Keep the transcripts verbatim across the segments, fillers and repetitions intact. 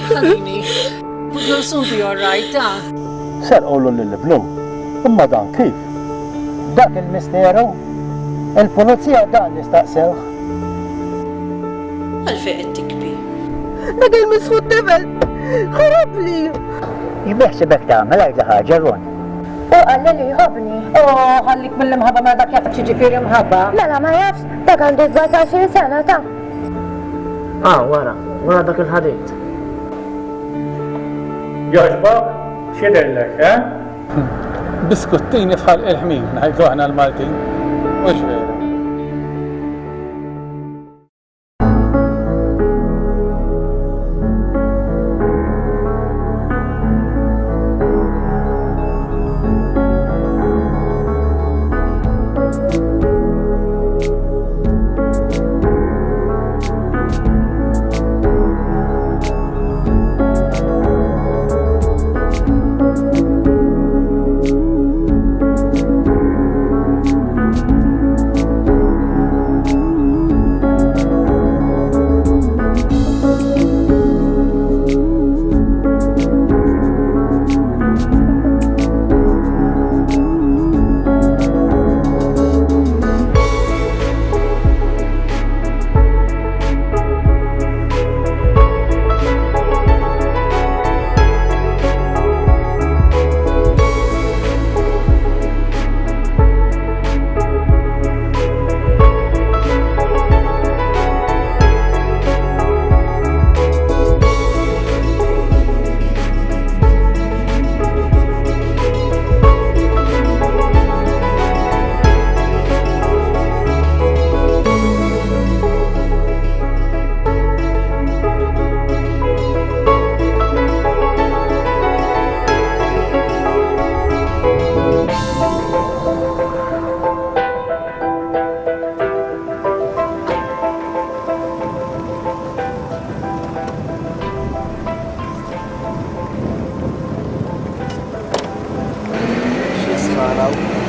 Ħallini. You'll soon be all right, ta? Serqulu lil ibnu. Imma dan kif? Dak il-misteru. Il-pulizija dan li staqsewh. Għalfejn qed tikbi. Dak il-misħut tifel ħarabli. X'beħsibek tagħmel għidli ħaġa Ron. U qalli li jħobbni. Oh, ħallik mill-imħabba ma dak jaf x'jiġifieri mħabba. Mela ma jafx, dak għandu sbatax-il sena ta. Ah, wara, wara dak il-ħadid. Jogħġbok? X'jidhirlek, eh? Biskuttini f'ħalq il-ħmir, ngħidu aħna l-Maltin. Mhux vera.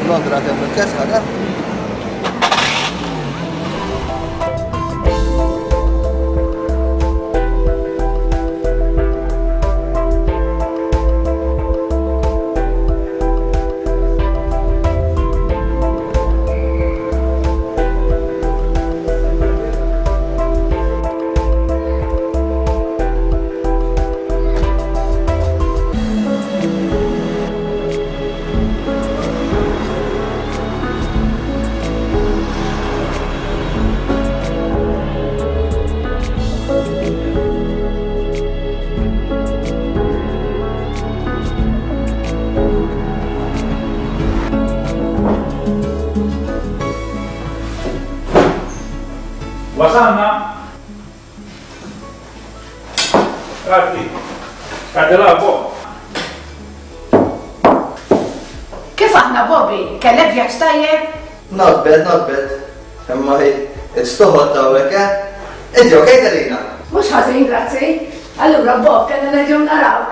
Londra kemm il-kesħa, eh? Wasalna! Għaddi, għaddi la, Bob. Kif aħna, Bobby? Kellek vjaġġ tajjeb? Not bad, not bad. Imma hi, it's too hot hawnhekk, eh? Inti okej, Delina? Mhux ħażin, grazzi. Allura, Bob, kellna nerġgħu narawk.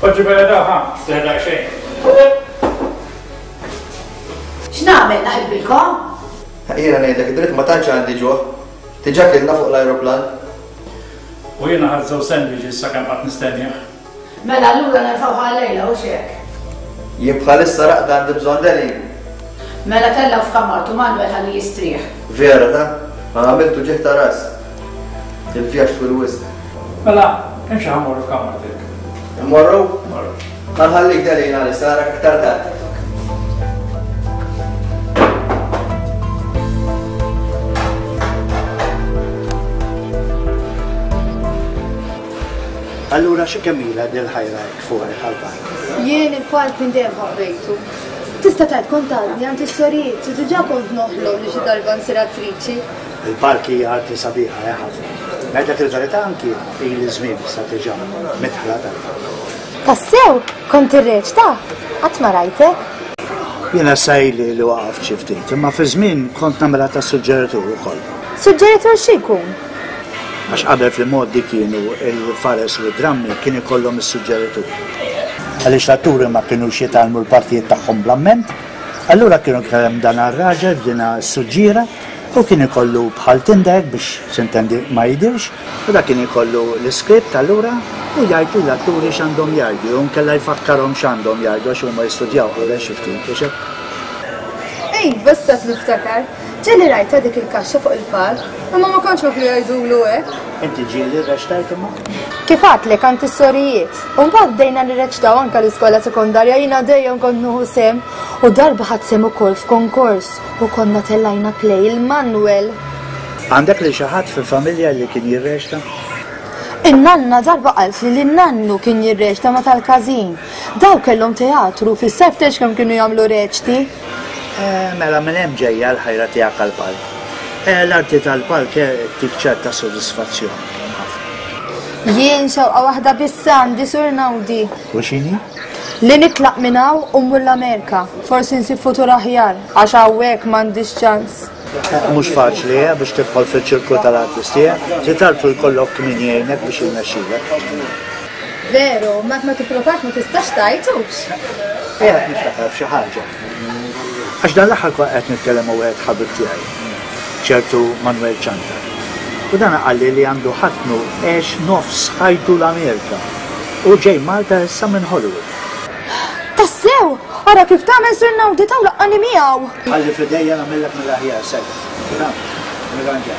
Poġġi bella da, ha, seħdak xejn. X'nagħmel naqilbilkom? Jiena ngħidlek id-dritt ma tantx għandi ġuħ. Diġà kilna fuq l-ajruplan. U jiena ħadt żewġ sandwiches sakemm qatt nistennih. Mela allura nerfgħu ħallejla u xek. Jien bħalissa raqda għandi bżonn Delin. Mela tellgħu f'kamartu Manuel ħalli jistrieħ. Vera ta? Ma għamiltu ġieħ ta' ras. Il-vjaġġ twil wisq. Mela, imxi ħa mmorru f'kamartek. Immorru? Immorru. Ma nħallik Delin għalissa narak aktar tard. Allura xi kemm ilha din il-ħajra hekk fuq il-ħalbar? Jien il-palk minn dejjem ħabbejtu. Tista' tgħid kont għadni għand is-sorijiet u diġà kont noħlom li xi darba nsir attriċi. Il-palk hija arti sabiħa eh, ħafna. Ngħidlek il-verità anki ili żmien issa diġà midħla tal-palk. Tassew, kont irreċta, qatt ma rajtek. Jiena issa ili li waqaft xi ftit, imma fi żmien kont nagħmilha ta' suġġeritur ukoll. Suġġeritur xi jkun? Għax qabel fil-modi kienu il-fares u d-drammi kien ikollhom is-suġġeritur. Għaliex l-atturi ma kinux jitgħallmu l-partijiet tagħhom bl-amment, allura kienu kellem dan ar-raġel f'dina s-suġġiera U kien ikollu bħal tindek biex sintendi ma jidirx, u dak kien ikollu l-iskript allura u jgħid lill-atturi x'għandhom jgħidu, jew inkella jfakkarhom x'għandhom jgħidu għax huma jistudjaw qabel xi ftit biex hekk. Iva, issa niftakar. Ġieli rajtha dik il-kaxxa fuq il-palk, imma ma kontx naf li jgħidulu hekk. Inti ġieli rreċtajt imma? Kif għadtlek għand is-sorijiet. U mbagħad bdejna nirreċtaw anke l-iskola sekondarja, jiena dejjem kont nieħu sehem u darba ħadt sehem ukoll f'konkors u konna tellajna play il-Manuel. Għandek li xi ħadd fil-familja li kien jirreċta? In-nanna darba qalt li l-nannu kien jirreċta ma tal-każin. Daw kellhom teatru fis-sajf tex kemm kienu jagħmlu reċti. Eh, mela minn hemm ġejja l-ħajra tiegħek għall-palk. Eh, l-arti tal-palk tik ċerta sodisfazzjon. Jien xewqa waħda biss għandi Sur Nawdi. U x'inhi? Li nitlaq minn hawn u mmur l-Amerika. Forsi nsib futur aħjar għax hawnhekk m'għandix ċans. Eh, mhux faċli eh, biex tidħol fiċ-ċirku tal-artisti, eh. Trid tarfu jkollok min jgħinek biex jirnexxilek. Veru, ma ma tipprovax ma tistax tgħidux. Qiegħed niftakar f'xi ħaġa. Għax dan l-aħħar kont qed nitkellem ma' wieħed ħabib tiegħi, ċertu Manuel Ciantar. U dan qalli li għandu ħatnu għex nofs ħajtu l-Amerika u ġej Malta issa minn Hollywood. Tassew! Ara kif tagħmel Sur Nawdi taw laqqani miegħu. Ħalli f'idejja nagħmellek mill-aħjar sejja. Nirranġa.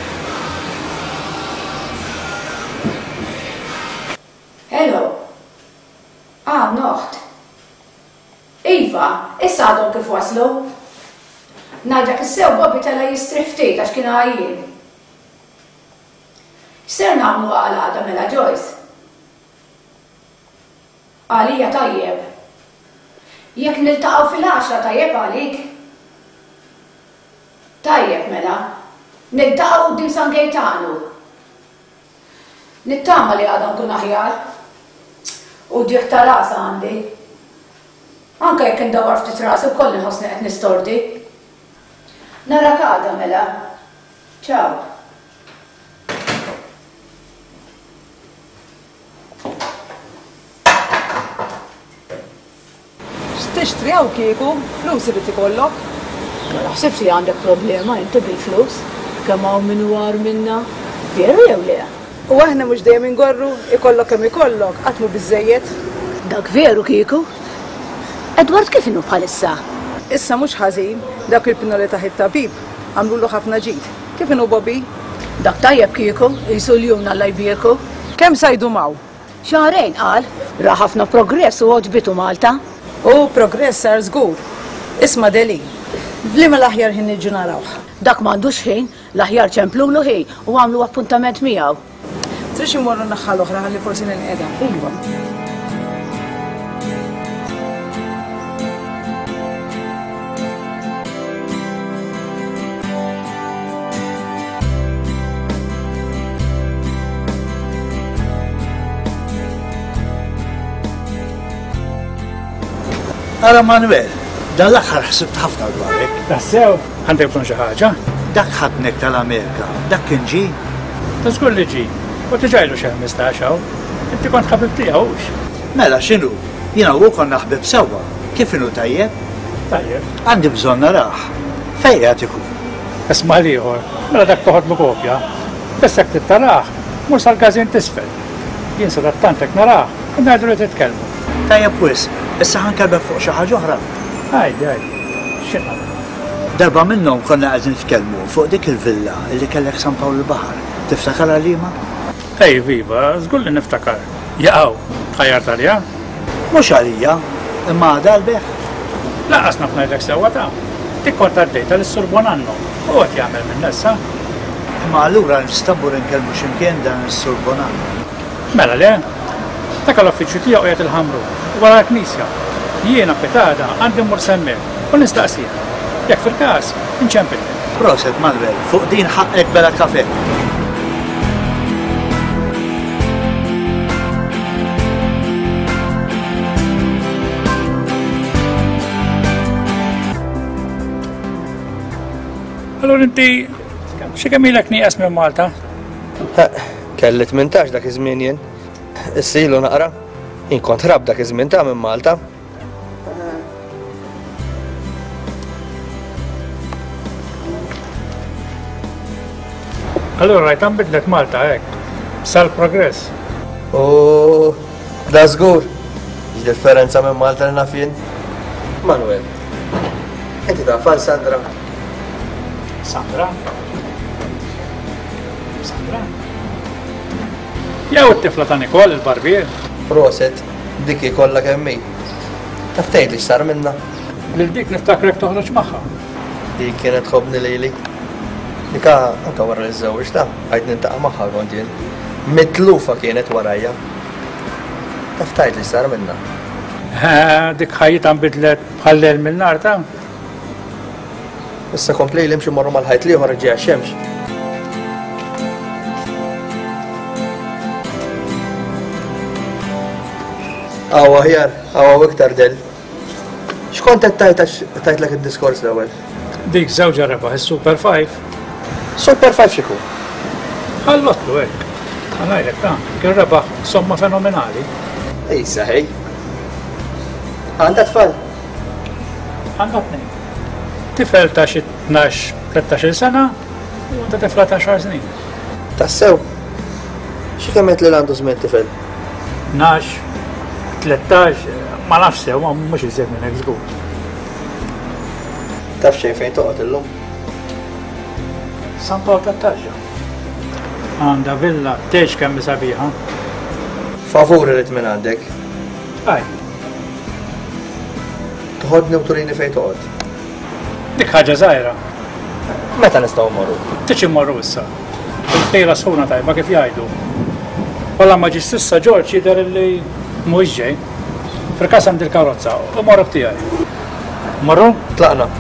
Hello. Ah, noħt. Iva, issa għadhom kif waslu. Ngħidlek issew Bobby tela jistrieħ ftit għax kien għajjien. X'ser nagħmlu għal għada mela Joyce? Għalija tajjeb. Jekk niltaqgħu fil-għaxra tajjeb għalik? Tajjeb mela. Niltaqgħu quddiem San Gejtanu. Nittama li għadha nkun aħjar. U ġieħ ta' ras għandi. Anke jekk indawwar ftit rasi wkoll inħossni qed nistordi. Narak għada mela. Ciao. X'tixtri hawn kieku? Flus irid ikollok. Ma naħsibx li għandek problema inti bil-flus. Kemm hawn min hu agħar minna. Veru jew le? U aħna mhux dejjem ingorru, ikollok kemm ikollok, qatt mhu biżżejjed. Dak veru kieku. Edward kif inhu bħalissa? Issa mhux ħażin, dak il-pinoli taħ it-tabib għamlulu ħafna ġid. Kif inhu Bobby? Dak tajjeb kieku, qisu l-jum Alla jbierku. Kemm sa jdum hawn? Xahrejn qal, ra ħafna progress u għoġbitu Malta. U progress sar żgur. Isma' Deli, b'liema l-aħjar ħin niġu narawh? Dak m'għandux ħin, l-aħjar ċemplulu ħin u għamlu appuntament miegħu. Trix immorru n-naħa l-oħra ħalli forsi ninqeda. Iva. Ara Manuel, dan l-aħħar ħsibt ħafna dwarek. Tassew, għandek bżonn xi ħaġa? Dak ħadnek tal-Amerika, dak kien ġie? Ta' żgur li ġie, u diġà ilu xi ħmistax hawn. Inti kont ħabib tiegħu hux? Mela x'inhu? Jiena u konna ħbib sewwa. Kif inhu tajjeb? Tajjeb. Għandi bżonn narah. Fejn qiegħed ikun? Isma' l-ieħor, mela dak toħodlu kopja. Biss jekk trid tarah, mur sal-każin t'isfel. Jien sadattant hekk narah u ngħidu li titkellmu. Tajjeb wisq, issa ħankellmek fuq xi ħaġa oħra. Għajdi, għajdi. X'inhu? Darba minnhom konna qegħdin nitkellmu fuq dik il-villa li kellek San Pawl il-Baħar. Tiftakar għalima? Ej, viva, żgur li niftakar. Jaqgħu, tħajjart għalija? Mhux għalija, imma għadha għall-beħ. Lanqas naf ngħidlek sewwa ta'. Dik kont għaddejta lis-Sur Bonanno u qed jagħmel minnha issa. Imma allura nista' mmur inkellmu x'imkien dan is-Sur Bonanno. Mela le, dak l-uffiċċju tiegħu qiegħed il-Ħamrun, wara l-Knisja. Jiena pitada għandi mmur s'hemmhekk u nistaqsih. Jekk fil-każ, inċempillek. Proset Manuel, fuq din ħaqqek bela kafe. Allura inti xi kemm ilek nieqes minn Malta? Kelli tmintax dak iż-żmien jien. Issa ilu naqra. Jien kont ħrab dak iż-żmien ta' minn Malta. Allura rajt nbidlet Malta hekk. Sal progress. U da żgur. X'differenza minn Malta li naf jien? Manuel, inti taf għal Sandra? Sandra? Sandra? Jew it-tifla ta' Nikol, il-barbier? Proset, dik hi kollha kemm hi. Taf tgħidli x'sar minnha? Lil dik niftakrek toħroġ magħha. Dik kienet tħobbni lili. Dika anke wara li żżewġtha, għajt nintaqa' magħha kont jien. Mitlufa kienet warajja. Taf tgħidli x'sar minnha? Dik ħajjitha nbidlet bħal lejl mill-nar ta'. Issa kompli li mxi morru mal-ħajt l-ieħor ġejja xemx. Aw aħjar, aw iktar del. X'kont qed tgħid għax tajtlek id-diskors l-ewwel? Dik żewġha rebaħ is-Super Five. Super Five x'ikun? Ħallotlu hekk. Ħa ngħidlek ta' kien rebaħ somma fenomenali. Ejsa ħej. Għandha tfal? Għandha tnejn. Tifel ta' xi tnax, tlettax-il sena u għandha tifla ta' xar snin. Tassew? Xi kemm qed li għandu żmien tifel? Tnax, tlettax, ma nafx sew, ma mhux iżjed minn hekk żgur. Taf xejn fejn toqgħod illum? San Pawl tat-Tarġa. Għandha villa tgħix kemm hi sabiħa. Favur irid minn għandek. Aj. Toħodni u turini fejn toqgħod. Dik ħaġa żgħira. Meta nistgħu mmorru? Tiġi mmorru issa. Il-ftejla sħuna tajba kif jgħidu. Walla ma ġiex s'issa Ġorġ jidher li mhuwiex ġej. Fil-każ għandi l-karozza u morru b'tiegħi. Morru? Tlaqna.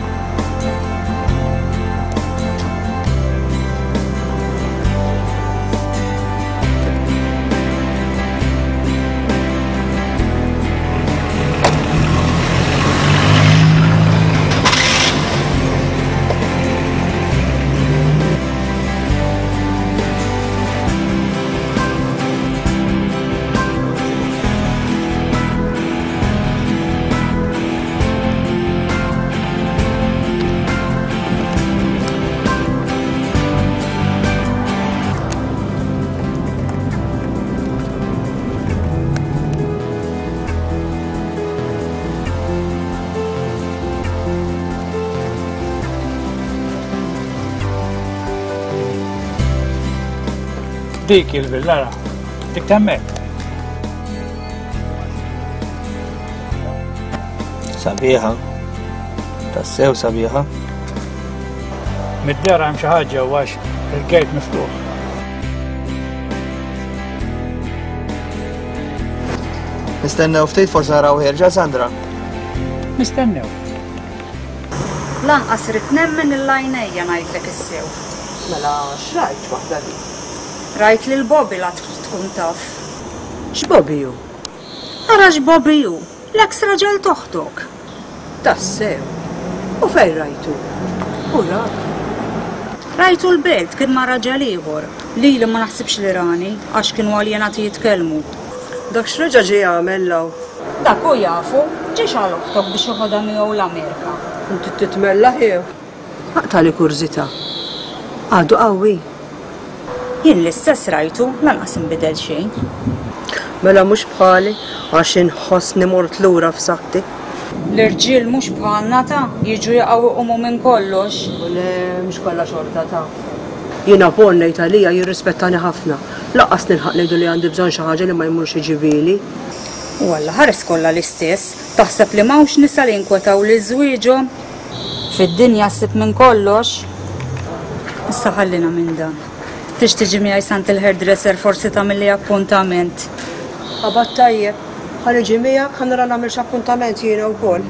Dik il-villara, dik temmek. Sabiħa, tassew sabiħa. Mid-dera hemm xi ħaġa għax il-gate miftuħ. Nistennew ftit forsi naraw ħierġa Sandra. Nistennew. Lanqas irid nemmen il-lajnejja ngħidlek issew. Mela x'rajt waħda dik? Rajt lil Bobby la tkun taf. X'Bobby hu? Ara x'Bobby hu, l-eks raġel toħtok. Tassew. U fejn rajtu? U rak? Rajtu l-belt kien ma' raġel ieħor. Lili ma naħsibx li rani għax kienu aljenati jitkellmu. Dak x'reġa' ġie jagħmel law? Dak hu jafu, ġiex għal oħtok biex joħodha miegħu l-Amerika. Inti titmella ħiew. Aqtali kurżità. Għadu qawwi. Jien l-istess rajtu, lanqas inbidel xejn. Mela mhux bħali għax inħossni mort lura f'saħħti. L-irġiel mhux bħalna ta' jiġu jaqgħu iqumu minn kollox. U le mhux kollha xorta ta'. Jiena Paul ngħid għalija jirrispettani ħafna. Lanqas nilħaq ngħidu li għandi bżonn xi ħaġa li ma jmurx iġibieli. U Alla ħares kollha l-istess, taħseb li m'hawnx nisa li jinkwetaw lil żwieġhom. Fid-dinja ssib minn kollox. Issa ħallina minn dan. Tix tiġi miegħi sant il-hairdresser forsi tagħmilli appuntament. Qabad tajjeb, ħa niġi miegħek ħa nara nagħmel x'appuntament jiena wkoll.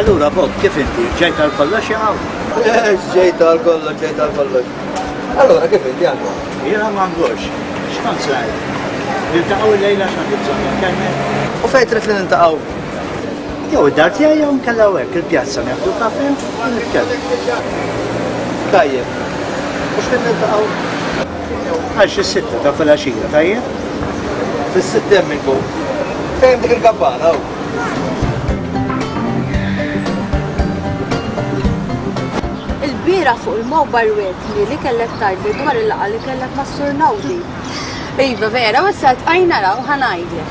Allura Bob, kif inti? Ġejt għal kollox jew? Ġejt għal kollox, ġejt għal kollox. Allora, kif inti għandu? Jiena ma ngħux. X'kont se ngħid? Niltaqgħu illejla x'għandi bżonn nkellmek. U fejn trid li niltaqgħu? Jew id-dar tiegħi jew nkella hekk il-pjazza nieħdu kafè u nitkellmu. Tajjeb. U x'fejn niltaqgħu? Għal xi sitta ta' filgħaxija, tajjeb? Fis-sitta hemm inkun. Fejn dik il-kabbana hawn? Il-bira fuq il-mobile wetli li kellek tgħidli dwar il-laqgħa li kellek ma' Sur Naudi. Iva vera, u issa tqajna raw ħa ngħidlek.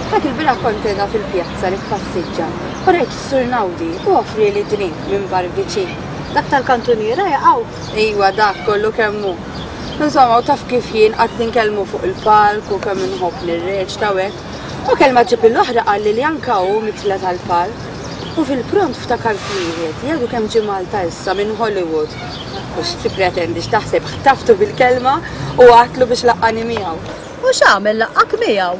Dak il-bira kont qiegħda fil-pjazza li tpassiġġa u rajt is-Sur Naudi u offrieli drink minn bar viċin. Dak tal-kantuniera jaqgħu? Iva, dak kollu kemm hu. Insomma, u taf kif jien qatt ninkellmu fuq il-palk u kemm inħobb nirreċta u hekk. U kelma ġib l-oħra qalli li anka hu mitla tal-palk. U fil-pront ftakar f'wieħed, jgħidu kemm ġie Malta issa minn Hollywood. U x'tippretendi x'taħseb ħtaftu bil-kelma u għatlu biex laqqani miegħu. U x'għamel laqqak miegħu?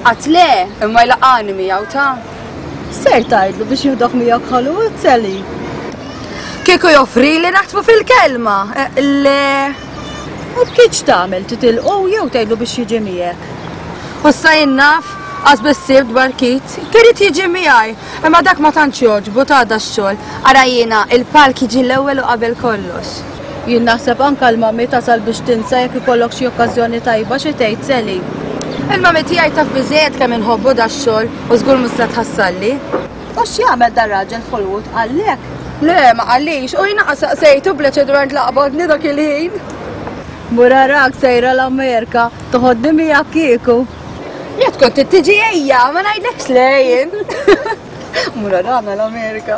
Qatt le, imma jlaqqani miegħu ta'. Ser tgħidlu biex jieħdok miegħek Hollywood, Sally? Kieku joffrili naħtfu fil-kelma. Le. U b'kiex tagħmel titilqu jew tgħidlu biex jiġi miegħek? U issa jien naf, għax biss dwar Kit, kirid jiġi miegħi, imma dak ma tantx jogħġbu ta' da x-xogħol. Ara jiena il-palk jiġi l-ewwel u qabel kollox. Jien naħseb anke l-mami tasal biex tinsa jekk ikollok xi okkażjoni tajba xi tgħid Sally. Il-mami tiegħi taf biżejjed kemm inħobbu da x-xogħol u żgur mhux se tħassalli. U x'jagħmel dar-raġel f'Hollywood qallek? Le, ma qallix, u jiena saqsejtu bla dwar tlaqbodni dak il-ħin. Mur arak sejra l-Amerika, toħodni miegħek kieku. Jekk kont tiġi ejja, ma ngħidlekx lejn. Mur arana l-Amerika.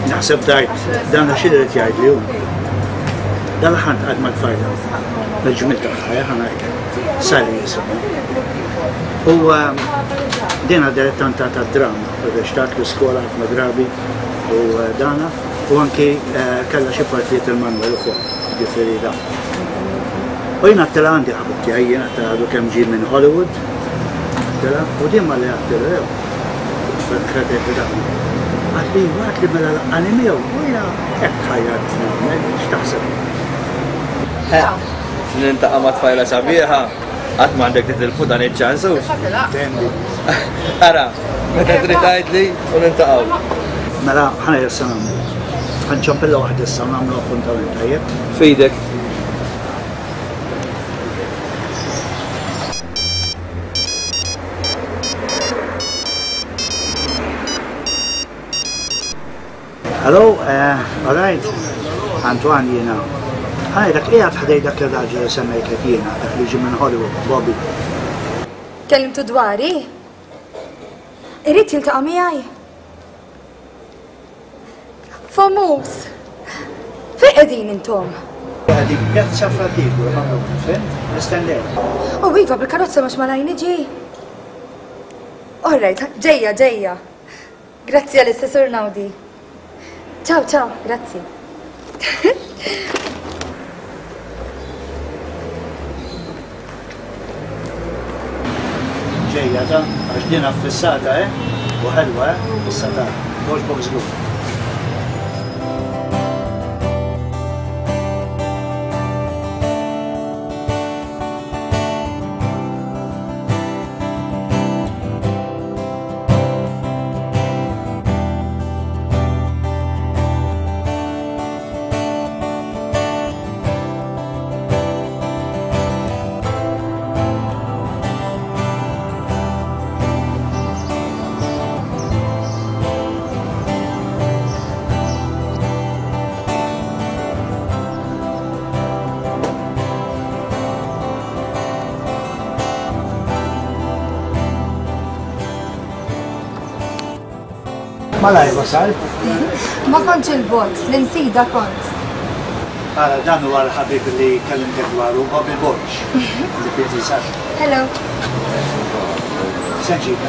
Naħseb dajt, dan xi irid jgħidli hu. Dan ħant qatt ma tfajla. Il-ġmil tagħha ħa ngħidlek. Sally jisimha. U dina dilettanta ta' drama, irrextat l-iskola ħafna drabi u dana, u anki kellha xi partijiet il-Manuel ukoll, ġifieri da. U jien għattela għandi ħabib tiegħi, jien għattela għadu kemm ġie minn Hollywood, għattela, u din ma li għattela jew, fetħet li dan. Għatli, għatli mela laqqani miegħu, u jiena hekk ħajjat nagħmel, x'taħseb? Nintaqa' ma' tfajla sabiħa, qatt m'għandek titilfu dan iċ-ċans. Ara, meta trid tgħidli u niltaqgħu. Mela, ħana issa nagħmlu. Ħanċampilla waħda issa nagħmlu appuntament tajjeb. Fidek. Hello, all right. Antoine jiena. Ħaj, dak qiegħed ħdej dak ir-raġel li semmejtlek jiena, dak li ġie minn Hollywood, Bobby. Kellimtu dwari? Irid jiltaqa' miegħi? Famuż! Fejn qegħdin intom? Qegħdin Pjazza Fratigu, fhimt? Nistennew. U iva, bil-karozza mhux malaj niġi. All right, ġejja, ġejja. Grazzi għal-istess Naudi. Ciao, ciao, grazzi. Ġejja ta' għax din affissata, eh? U ħelwa, eh? Fissata. Toġbok żgur. Malaj wasal? Ma kontx il-bot, l-insida kont. Ara, dan huwa l-ħabib li kellimtek dwaru, Bobby Borg, li kien jinsab. Hello. Se nġib.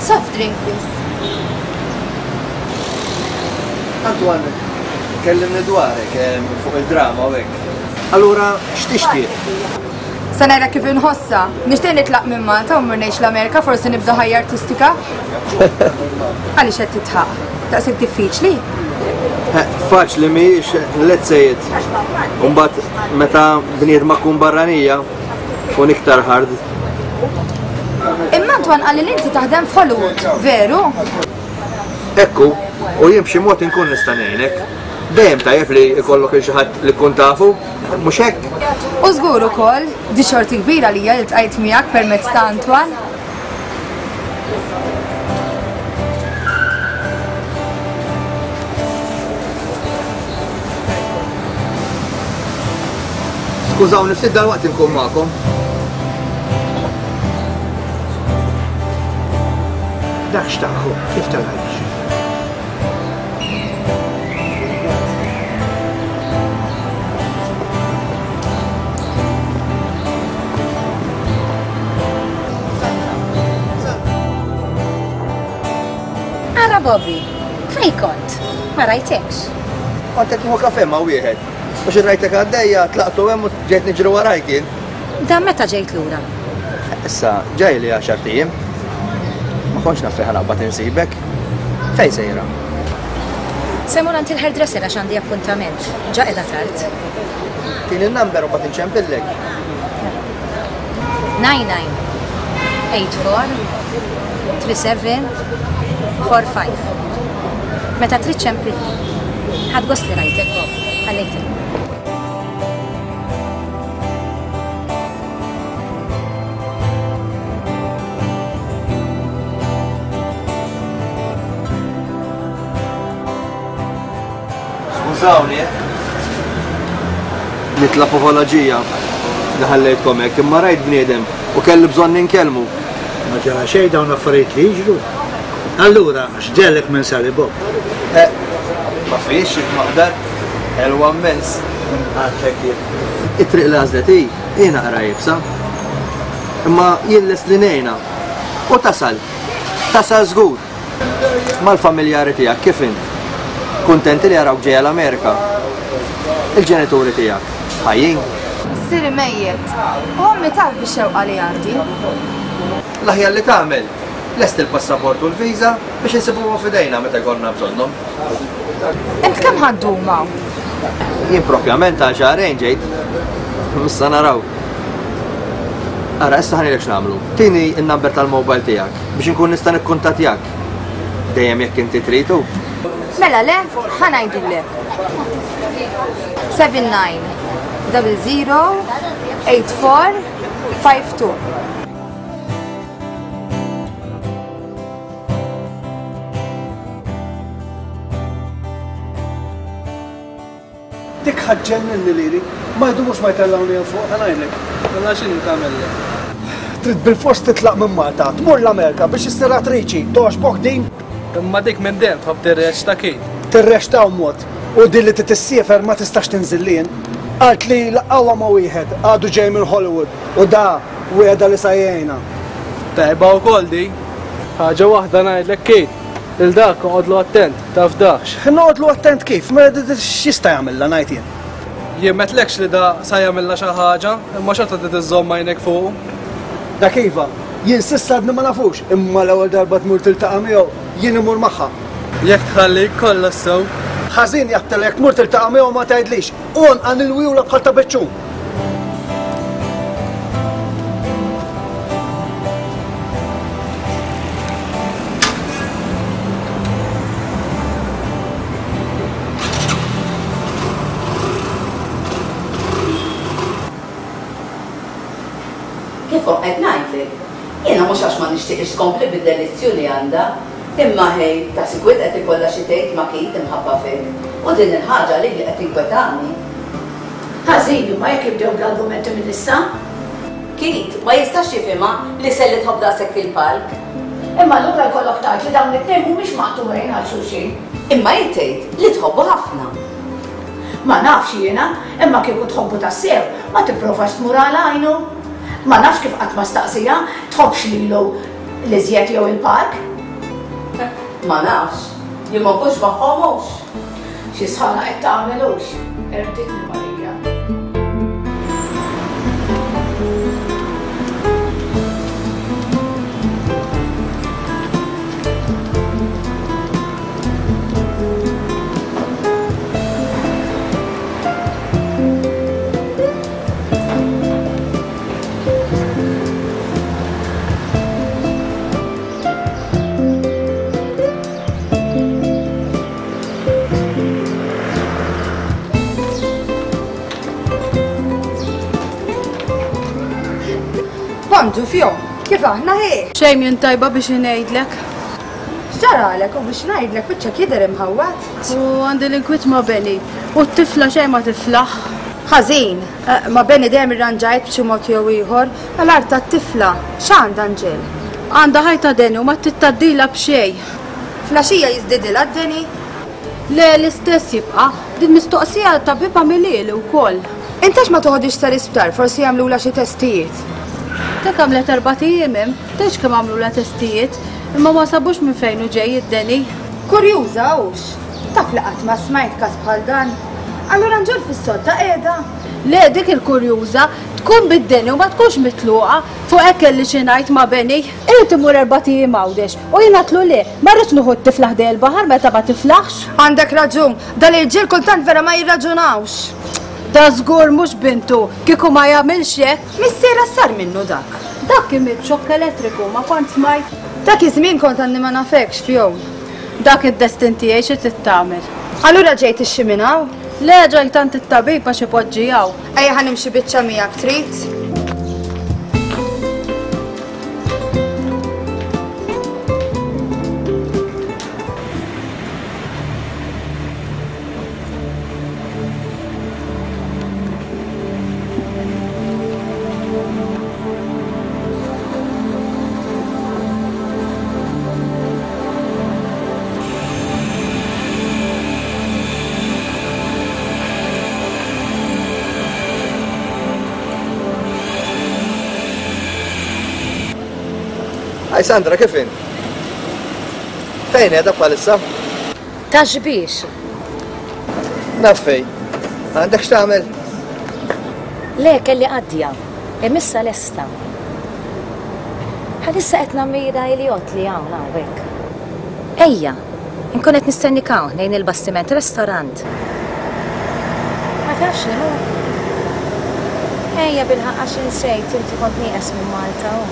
Soft drink, please. Antoine, kellimni dwarek fuq il-drama u hekk. Allura, x'tixtieq? Se ngħidlek kif inħossha. Nixtieq nitlaq minn Malta u mmur ngħix l-Amerika forsi nibda ħajja artistika. Għaliex qed titħaq? Daqshekk diffiċli? Faċli mhijiex, let's say it. U mbagħad meta bniedma tkun barranija, tkun iktar hard. Imma Antoine qalli li inti taħdem f'Hollywood, veru? Ekku, u jien b'xi mod inkun nista' ngħinek. Dejjem tajjeb li jkollok il xi ħadd li tkun tafu, mhux hekk? U żgur ukoll, di xorti kbira li hija li ltqajt miegħek permezz ta' Antoine. Skużawni, ftit dal-waqt inkun magħkom. Dak xtaqħu, kif tal-għalix? Ara Bobby, fej kont? Ma rajtekx. Kont qed nieħu kafe ma' wieħed. Biex rajtek għaddejja, tlaqtu hemm u ġejt niġri warajk jien. Dan meta ġejt lura? Issa, ġej li għaxar ijiem. Ma kontx naf fejn ħanaqbad insibek. Fejn sejra? Se mmur għand il-hairdresser għax għandi appuntament. Ġa qiegħda tard. Tini n-number u mbagħad inċempillek. Nine nine eight four three seven four five. Meta trid ċempilli. Ħadd gost li rajtek, Bob. Ħallejtek. Skużawni, nitla apoloġija li ħallejtkom hekk, imma rajt bniedem u kelli bżonn ninkellmu. Ma ġara xejn dawn affarijiet li jiġru. Allura, x'ġellek minn Sally Bob? Eh, ma fiex maqdar, ħelwa immens. Għadlek jien. It-triq li għażlet hi, hi naqra iebsa. Imma jien lest li ngħinha. U tasal, tasal żgur. Mal-familjari tiegħek kif int? Kuntenti li jarawk ġejja l-Amerika? Il-ġenituri tiegħek ħajjin? Missieri mejjet. U ommi taf bix-xewqa li għandi. L-aħjar li tagħmel, lest il-passaport u l-viża biex insibuhom f'idejna meta jkollna bżonnhom. Int kemm ħaddum hawn? Jien propjament għal xahrejn ġejt. Issa naraw. Ara, issa ħanilek x'nagħmlu. Tini n-number tal-mobile tiegħek biex inkun nista' nikkuntattjak. Dejjem jekk inti tridu. Mela le, ħa ngħidulek. Seven nine double zero eight four five two. Dik ħaġġenninni lili, ma jdumux ma jtellgħuni hemm fuq, ħa ngħidlek. Mela x'inhi tagħmellek? Trid bilfors titlaq minn Malta, tmur l-Amerika biex issir attriċi, togħġbok din? Imma dik minn dejjem tħobb tirreċta Kate. Tirreċta u mod, u din li titissiefer ma tistax tinżil lien. Qalt li laqgħuha ma' wieħed, għadu ġej minn Hollywood, u da wiegħda li sa jgħinha. Tajba wkoll di. Ħaġa waħda ngħidlek Kate, il dak oqgħodlu attent, taf dax. Noqgħodlu attent kif? Ma x'jista' jagħmilha ngħid jien. Jien m'għedtlekx li da sa jagħmilha xi ħaġa, imma xorta trid iżżomm għajnek fuqu. Dak iva, jien s'issa għadni ma nafux, imma l-ewwel darba tmur tiltaqa' miegħu, jien imur magħha. Jekk tħallik kollox sew. Ħażin jgħattilek jekk tmur tiltaqa' miegħu ma tgħidlix, għonqa nilwiewla bħal ta' biċċun. Kif qed ngħidlek? Jiena mhux għax ma nixtieqx tkompli bid-delizzju li għandha, imma ħej ta' sikwit qed ikollha xi tgħid ma' Kate imħabba fik. U din il-ħaġa li qed tinkwetani. Ħażin imma jekk jibdew bl-argumenti minn issa. Kate ma jistax jifhimha li Sally tħobb daqshekk il-palk. Imma allura jkollok tgħid li dawn it-tnejn mhumiex maqtugħin għal xulxin. Imma hi tgħid li tħobbu ħafna. Ma nafx jiena, imma kieku tħobbu tassew, ma tipprovax tmur għal għajnu. Ma nafx kif qatt ma staqsija, tħobbx lilu l-iżjed jew il-park? Ma nafx, jien ma nkunx magħhom hux. Xi sħana qed tagħmel hux, erditni Marija. Bonġu Fjon, kif aħna hi? Xejn jien tajba biex ngħidlek. X'ġaralek u biex ngħidlek wiċċek jidher imħawwad? U għandi l-inkwiet ma' Benny. U t-tifla xejn ma tiflaħ. Ħażin, ma' Benny dejjem irranġajt b'xi mod jew ieħor, għal-art tat-tifla, x'għandha Anġel? Għandha ħajta Deni u ma tittaddilha b'xejn. Flaxija jiżdidilha d-Deni? Le, l-istess jibqa'. Din mistoqsija tabib għamilieli wkoll. Intax ma toħodix tal-isptar, forsi jagħmlulha xi testijiet. Dak għamlet erbat ijiem hemm, tgħidx kemm għamlulha testijiet, imma ma sabux minn fejn hu ġej id-deni. Kurjuża hux. Taf li qatt ma smajt każ bħal dan. Allura Anġel fis-sodda qiegħda? Le, dik il-kurjuża tkun bid-deni u ma tkunx mitluqa fuq hekk kelli xi ngħid ma' Benny. Irid imur erbat ijiem Għawdex u jien għedtlu le, ma rridx nieħu t-tifla ħdej il-baħar meta ma tiflaħx. Għandek raġun, dal-irġiel kultant vera ma jirraġunawx. Da żgur mhux bintu, kieku ma jagħmilx hekk. Missiera sar minnu dak. Dak kien miet b'xokk elettriku, ma kont smajt. Dak iż-żmien kont għandi ma nafekx Fjon. Dak id-destin tiegħi xi trid tagħmel. Allura ġejt ixxi minn hawn? Le, ġejt għand it-tabib għax ipoġġi hawn. Ejja ħa nimxi biċċa miegħek trid? Hi Sandra, kif int? Fejn qiegħda bħalissa? Ta' xbiex. Naf fejn. Għandek x'tagħmel? Le, kelli qaddja. Imissa lesta. Bħalissa qed nammira il-jott li hawn hawnhekk. Ejja, inkun qed nistennik hawn ħdejn il-bastiment restaurant. Ma tafx li hu? Ejja bilħaqq għax insejt inti kont nieqes minn Malta hu.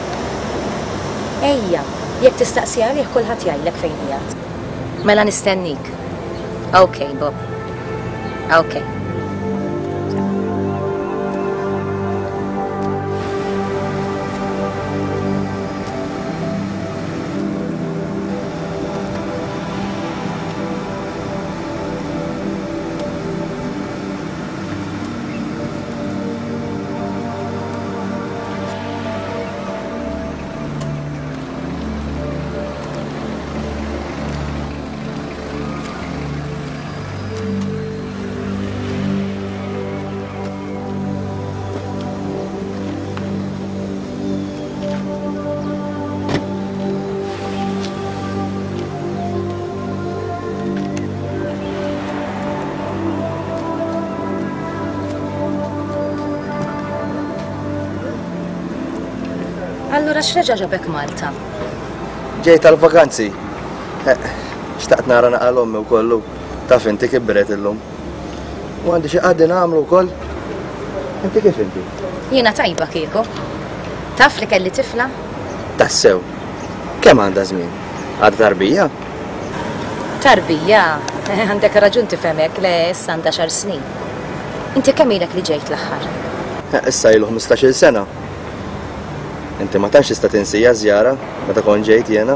Ejja, jekk tistaqsi għalih kulħadd jgħidlek fejn qiegħed. Mela nistennik. Ok, Bob. Ok. Allura x'reġa' ġabek Malta? Ġejt tal-vakanzi. Xtaqt nara naqal ommi wkoll taf inti kibret illum. U għandi xi qaddi nagħmlu wkoll. Inti kif inti? Jiena tajba kieku. Taf li kelli tifla? Tassew. Kemm għandha żmien? Għadha tarbija? Tarbija? Għandek raġun tifhem hekk, le issa għandha xar snin. Inti kemm ilek li ġejt l-aħħar? Issa ilu ħmistax-il sena. Inti ma tantx tista' tinsija żjara meta kont ġejt jiena.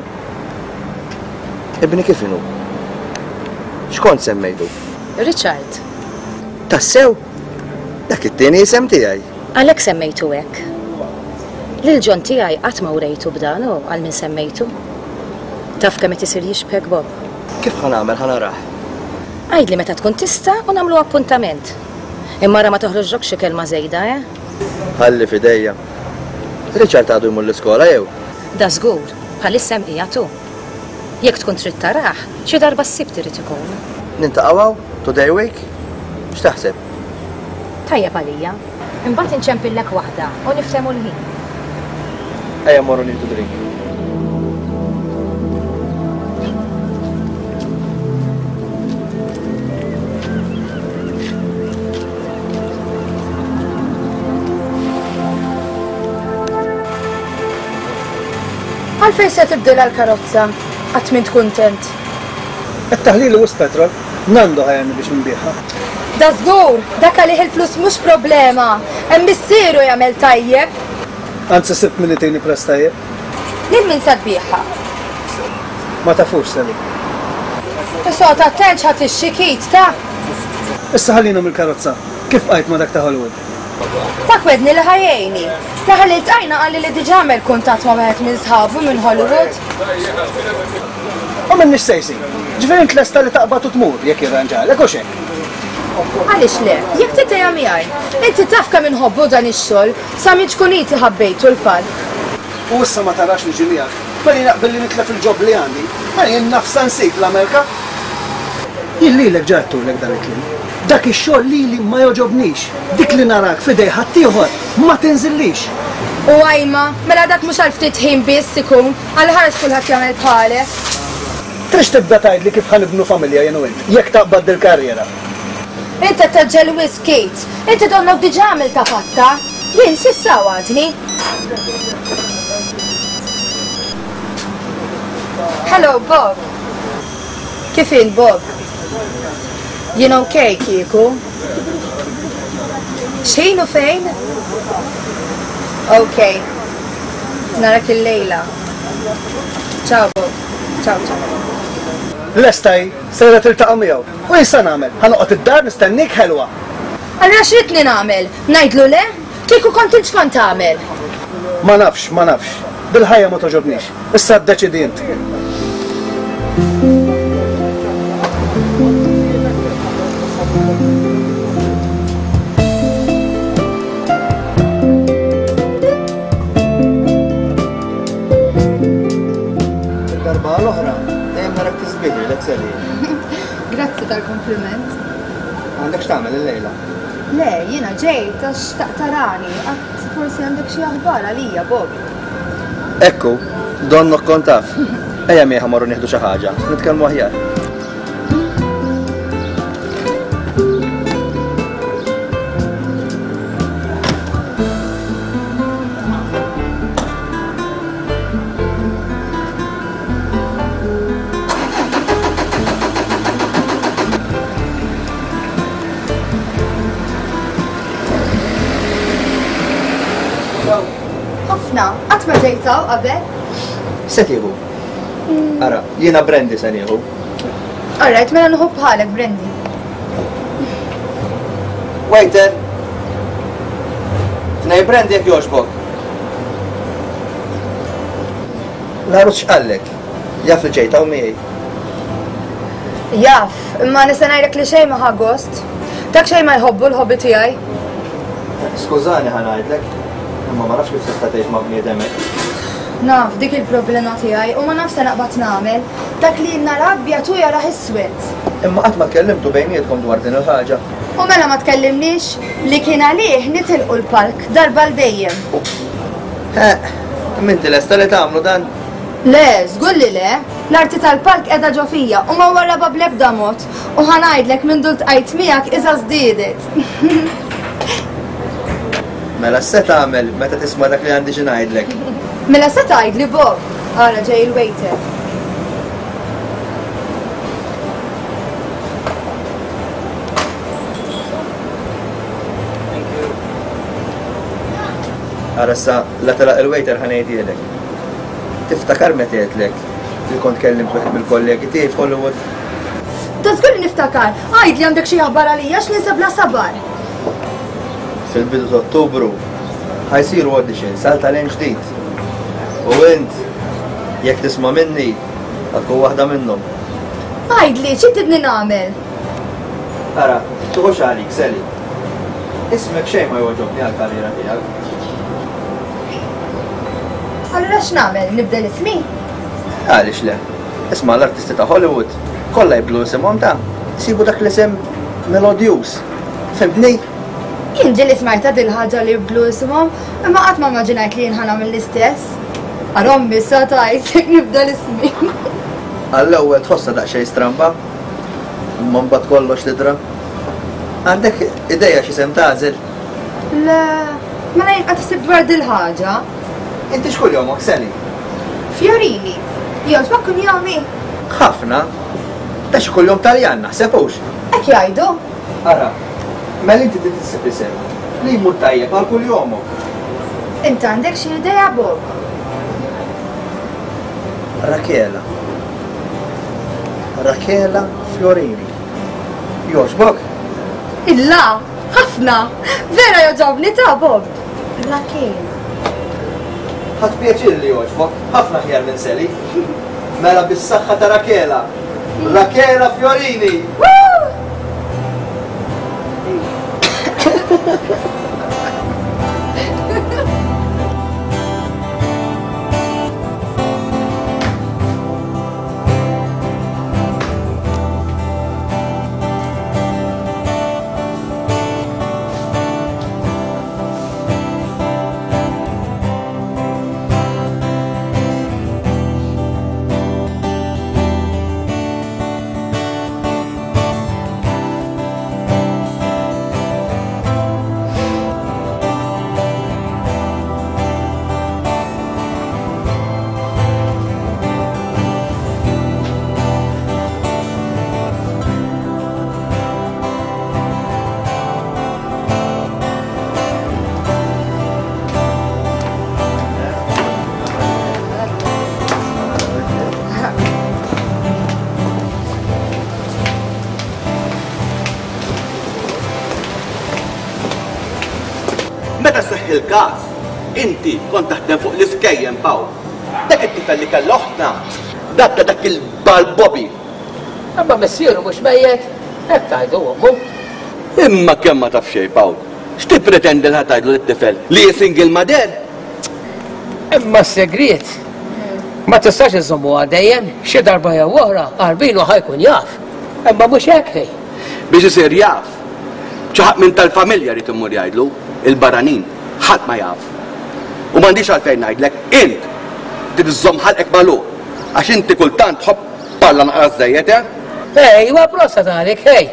Ibni kif inhu? X'kont semmejtu? Richard. Tassew? Dak it-tieni isem tiegħi. Għalhekk semmejtu hekk. Lil John tiegħi qatt ma urejtu b'dan u għal min semmejtu. Taf kemm qed isir jixbhek Bob. Kif ħa nagħmel ħa narah? Għidli meta tkun tista' u nagħmlu appuntament. Imma ra ma toħroġlok xi kelma żejda, eh? Ħalli f'idejja. Richard għadu jmur l-iskola jew? Da żgur, bħalissa hemm qiegħed hu. Jekk tkun trid tarah, xi darba s-Sibt irid ikun. Nintaqgħu hawn today week? X'taħseb? Tajjeb għalija. Imbagħad inċempillek waħda u niftehmu l-ħin. Ejja mmorru nieħdu drink. Għalfejn se tibdilha l-karozza? Qatt m'int kuntent. Qed taħlili wisq petrol, Nando ħajerni biex nbigħha. Da żgur, dak għalih il-flus mhux problema. Hemm missieru jagħmel tajjeb. Anzi sibt min itini prezz tajjeb. Lil min se tbigħha? Ma tafux, Sally. Issa oqgħod attent x'ħa tixtri Keith, ta? Issa ħallina mill-karozza. Kif bqajt ma' dak ta' Hollywood? Dak wegħdni li ħa jgħinni. L-aħħar li ltqajna qalli li diġà għamel kuntatt ma' wieħed minn sħabu minn Hollywood. U minni x'se jsir? Ġifieri int lesta li taqbad u tmur jekk jirranġalek hux hekk? Għaliex le? Jekk trid ejja miegħi. Inti taf kemm inħobbu dan ix-xogħol, sa minn ċkuniti ħabbejtu l-palk. U issa ma tarax niġi miegħek. Mela jien naqbel li nitlef il-job li għandi. Mela jien naf sa nsib l-Amerika. Jien lilek ġa għedtulek dan il-kliem. Dak ix-xogħol lili ma jogħġobnix. Dik li narak f'idej ħaddieħor ma tinżillix. U ajma, mela dak mhux għal ftit ħin biss ikun, għal ħares kulħadd jagħmel bħalek. Trix tibda tgħidli kif ħa nibnu familja jien u int, jekk taqbad dil-karriera. Int qed tgħaġġel wisq, Kate. Inti donnok diġà għamiltha fatta. Jien s'issa għadni. Hello, Bob. Kif int, Bob? Jien ok, kieku. X'ħin u fejn? Ok. Narak il-lejla. Ciao, Bob. Ciao, ciao. Lesta hi, sejra tiltaqa' miegħu. U jien sa nagħmel? Ħa noqgħod id-dar nistennik ħelwa. Allura x'ridtni nagħmel? Ngħidlu le? Kieku kont int x'kont tagħmel? Ma nafx, ma nafx. Dil-ħajja ma togħġobnix. Issa ddeċiedi int. Darba l-oħra, dejjem narak tisbiħi lek Sally. Grazzi tal-kompliment. Għandek x'tagħmel illejla? Le, jiena ġejt għax xtaqt tarani, għad forsi għandek xi aħbar għalija, Bob. Ekku, donnok kont taf. Ejja miegħi ħa morru nieħdu xi ħaġa, nitkellmu aħjar. Ħafna, qatt ma ġejt hawn qabel. Se tieħu? Ara, jiena brandy se nieħu. Alright, mela nieħu bħalek brandy. Waiter! Tnej brandy jekk jogħġbok. L-għarus x'qallek? Jaf li ġejt hawn miegħi. Jaf, imma nista' ngħidlek li xejn ma ħa gost. Dak xejn ma jħobbu l-ħobbi tiegħi. Skużani ħa ngħidlek, imma ma nafx kif tista' tgħix ma' bniedem hekk. Naf, dik il-problema tiegħi u ma nafx se naqbad nagħmel. Dak li nhar abjad u jarah iswed. Imma qatt ma tkellimtu bejnietkom dwar din il-ħaġa. U mela ma tkellimniex li kien għalih nitilqu l-palk darba l dejjem. Eh, imma inti lesta li tagħmlu dan? Le, żgur li le. L-arti tal-palk qiegħda ġo fija u ma warrabha bl-ebda mod. U ħa ngħidlek minn dul tqajt miegħek iża żdiedet. Mela se tagħmel meta tisma' dak li għandi xi ngħidlek? Mela se tgħidli Bob. Ara ġej il-waiter. Ara issa la telaq il-waiter ħa ngħidilek. Tiftakar meta għedtlek li kont kellimt wieħed mill-kollegi tiegħi f'Hollywood? Ta' żgur li niftakar. Għidli għandek xi aħbar għalija x'ninsab bla sabar. Fil-bidu ta' Ottubru ħajsiru auditions għal talent ġdid. U int, jekk tisma' minni, ħa tkun waħda minnhom. Għidli, xi tridni nagħmel? Ara, tuħux għalik, Sally. Ismek xejn ma jogħġobni għall-karriera tiegħek. Allura x'nagħmel? Nibdel ismi? Għaliex le? Isma' l-artisti ta' Hollywood kollha jibdlu isimhom ta' isibu dak l-isem melodjuż. Fhimtni? Jien ġieli smajtha dil-ħaġa li jibdlu isimhom, imma qatt ma immaġinajt li jien ħa nagħmel l-istess. Ara ommi sa tgħid jekk nibdel ismi. Għall-ewwel tħossha daqsxejn stramba, imma mbagħad kollox tidra. Għandek idea x'isem tagħżel? Le, mela jien qatt ħsibt dwar dil-ħaġa. Inti x'kuljomok, Sally? Fiorini. Jogħġbok kunjomi? Ħafna. Ta' xi kuljom Taljan naħseb hux. Hekk jgħidu. Ara, mela inti trid issib isem li jmur tajjeb għal kuljomok. Int għandek xi idea, Bob? Rakela. Rakela Fiorini. Jogħġbok? Illa, ħafna! Vera jogħġobni ta' Bob! Rakela. Ħadt pjaċir li jogħġbok, ħafna aħjar minn Sally. Mela bis-saħħa ta' Rakela. Rakela Fiorini! Meta seħħ il-każ, inti kont taħdem fuq l-iskejjem, Pawl. Dak it-tifel li kellha oħtna, dak ta' dak il-bal Bobby. Imma missieru mhux mejjet, hekk tgħidu ommu. Imma kemm ma taf xejn, Pawl. X'tippretendi li ħa tgħidlu lit-tifel li hi single mother? Imma s-segriet ma tistax iżommu dejjem, xi darba jew oħra qarbinu ħa jkun jaf. Imma mhux hekk hi. Biex isir jaf, xi ħadd minn tal-familja jrid imur jgħidlu, il-barranin, ħadd ma jaf. U m'għandix għalfejn ngħidlek, int trid iżżomm ħalqek magħluq, għax inti kultant tħobb parla naqra żejjed, eh? Ej, huwa prosta tagħlik, ej.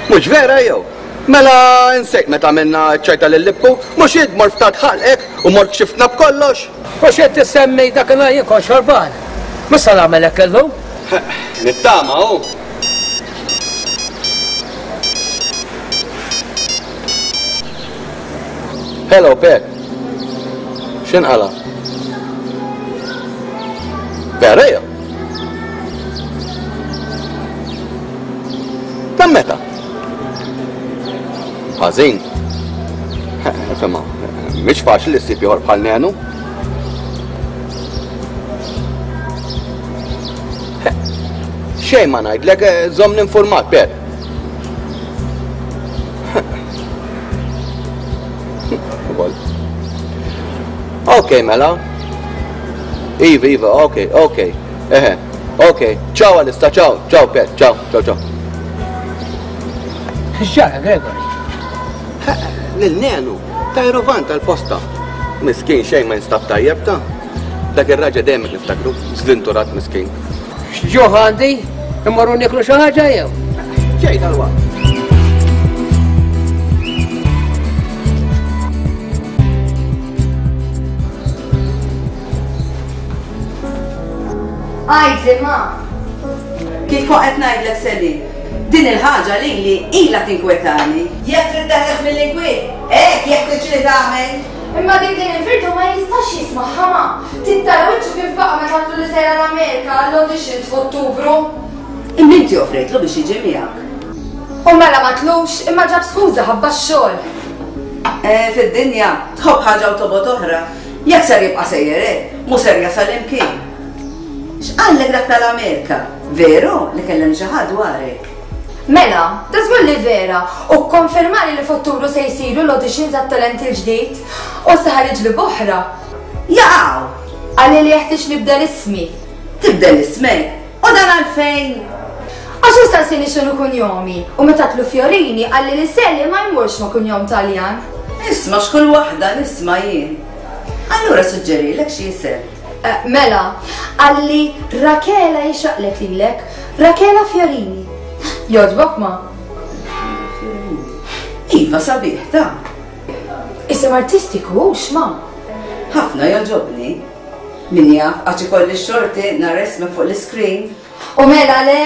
Mhux vera jew? Mela insejt meta għamilna ċ-ċajta lil Libku, mhux int mort ftat ħalqek u mort kxiftna b'kollox. U x'qed tissemmi dakinhar jien kont xorban. Mhux se nagħmel hekk illum. Nittama hu. Hello, Pet. X'inqala? Vera jew? Dan meta? Ħażin. Insomma, mhix faċli li ssib ieħor bħal Nenu. Xejn ma ngħidlek, żommni informat, Pet. Ok, mela. Iva, iva, ok, ok. Eħe, ok. Ciao Alista, ciao, ciao Pet, ciao, ciao, ciao. X'ġara, Gregory? Lil Nenu, tajru van tal-posta. Miskin xejn ma jinstab tajjeb ta'. Dak ir-raġel dejjem niftakru, żvinturat miskin. X'ġuħ għandi? Immorru nieklu xi ħaġa jew? Ġej dal-waqt. Għajdli ma. Kif kont qed ngħidlek Sally, din il-ħaġa lili ilha tinkwetani. Jekk trid teħles mill-inkwiet, hekk jekk tiġri tagħmel. Imma dik li ninfirdu ma jistax jismagħha ma. Tittara wiċċu kif baqa' meta għadlu li sejra l-Amerika għall-auditions f'Ottubru. Imma inti offrejtlu biex jiġi miegħek. U mela ma tlux, imma ġab skuża ħabba x-xogħol. Eh, fid-dinja tħobb ħaġa u tobgħod oħra. Jekk ser jibqa' sejjer hekk, mhu ser jasal imkien. X'qallek dak tal-Amerika? Veru li kellem xi ħadd dwarek? Mela, da żgur li vera, u kkonfermali li f'Ottubru se jsiru l-auditions għat-talent il-ġdid u se ħareġ li b'oħra. Jaqgħu! Qalli li jeħtieġ nibdel ismi. Tibdel ismek? U dan għalfejn? Għax hu staqsini x'inhu kunjomi u meta tlu Fiorini qalli li Sally ma jmurx ma' kunjom Taljan. Isma' x'kull waħda nisma' jien. Allura suġġerilek xi isem. Mela, qalli Rakela jixraqlek lilek, Rakela Fiorini. Jogħġbok ma? Iva sabiħ ta'. Isem artistiku hux ma? Ħafna jogħġobni. Min jaf għax ikolli x-xorti nara ismek fuq l-iskrin. U mela le?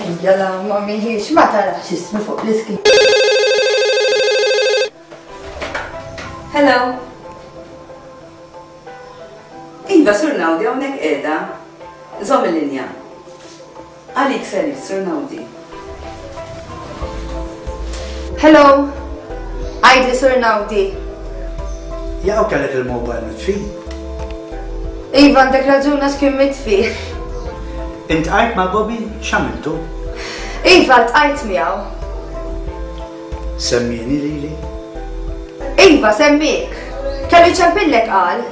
Ejja la ma miħiex ma tarax ismi fuq l-iskrin. Hello. Iva, Sur Naudi, hawnhekk qiegħda. Żomm il-linja. Għalik Sally, Sur Naudi. Hello. Għidli Sur Naudi. Jaqaw kellek il-mobile mitfi? Iva, għandek raġun għax kien mitfi. Intqajt ma' Bobby x'għamiltu? Iva, ltqajt miegħu. Semmieni lili? Iva, semmik. Kellu jċempillek qal.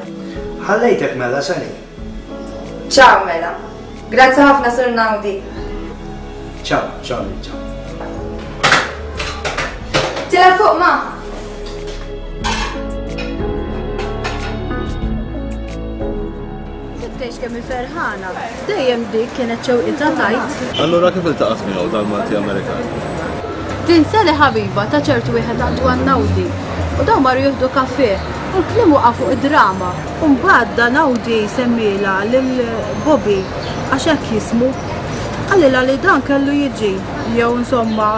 Ħallejtek mela, Sally. Ciao mela. Grazzi ħafna Sur Naudi. Ciao, ciao, ciao. Tila fuq ma. Tgħix kemm ferħana. Dejjem dik kienet xewqitha tajt. Allura kif iltaqgħet miegħu dal-Malti Amerikan? Tinsa li ħabiba ta' ċertu wieħed Antoine Naudi. U dawn marru jieħdu kafè u l-kliem waqa' fuq id-drama. U mbagħad da Naudi semmilha lil Bobby għax hekk jismu. Qalilha li dan kellu jiġi jew insomma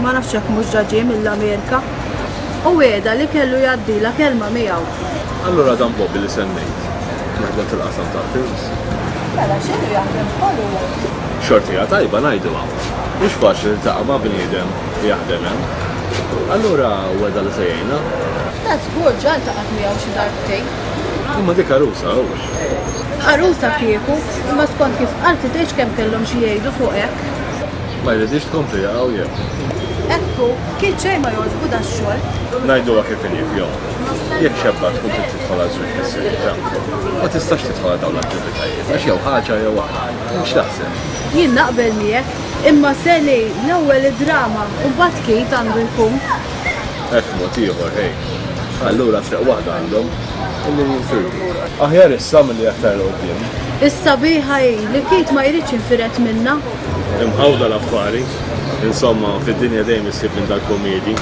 ma nafx hekk mhux ġa ġie mill-Amerika. U wegħda li kellu jgħaddilha kelma miegħu. Allura dan Bobby li semmejt jaħdem fil-qasam tal-films. Mela x'inhu jaħdem f'Hollywood? Xortija tajba ngħiduha. Mhux faċli tiltaqa' ma' bniedem li jaħdem hemm. Allura wegħda li se jgħinha. Ta' żgur ġa ltaqgħet miegħu xi darbtejn. Imma dik għarusa hux. Għarusa kieku, imma skont kif qalt li tgħidx kemm kellhom xi jgħidu fuq hekk. Ma jridix tkompli jaqgħu jew. Ekku, kien xejn ma jogħġbu dax-xogħol. Ngħiduha kif inhi fihom. Jekk xebba tkun trid tidħol għal żwieġ fis-serjetà, ma tistax tidħol għal dawn l-attivitajiet għax jew ħaġa jew oħra. X'taħseb? Jien naqbel miegħek, imma Sally l-ewwel id-drama u mbagħad Kate għandu jkun. Hekk mod ieħor, ħej. Allura triq waħda għandhom illi jinfirdu. Aħjar issa milli aktar 'l quddiem. Is-sabiħa hi li Kate ma jridx jinfired minnha. Imħawda l-affari. Insomma, fid-dinja dejjem issib minn dal-komedi.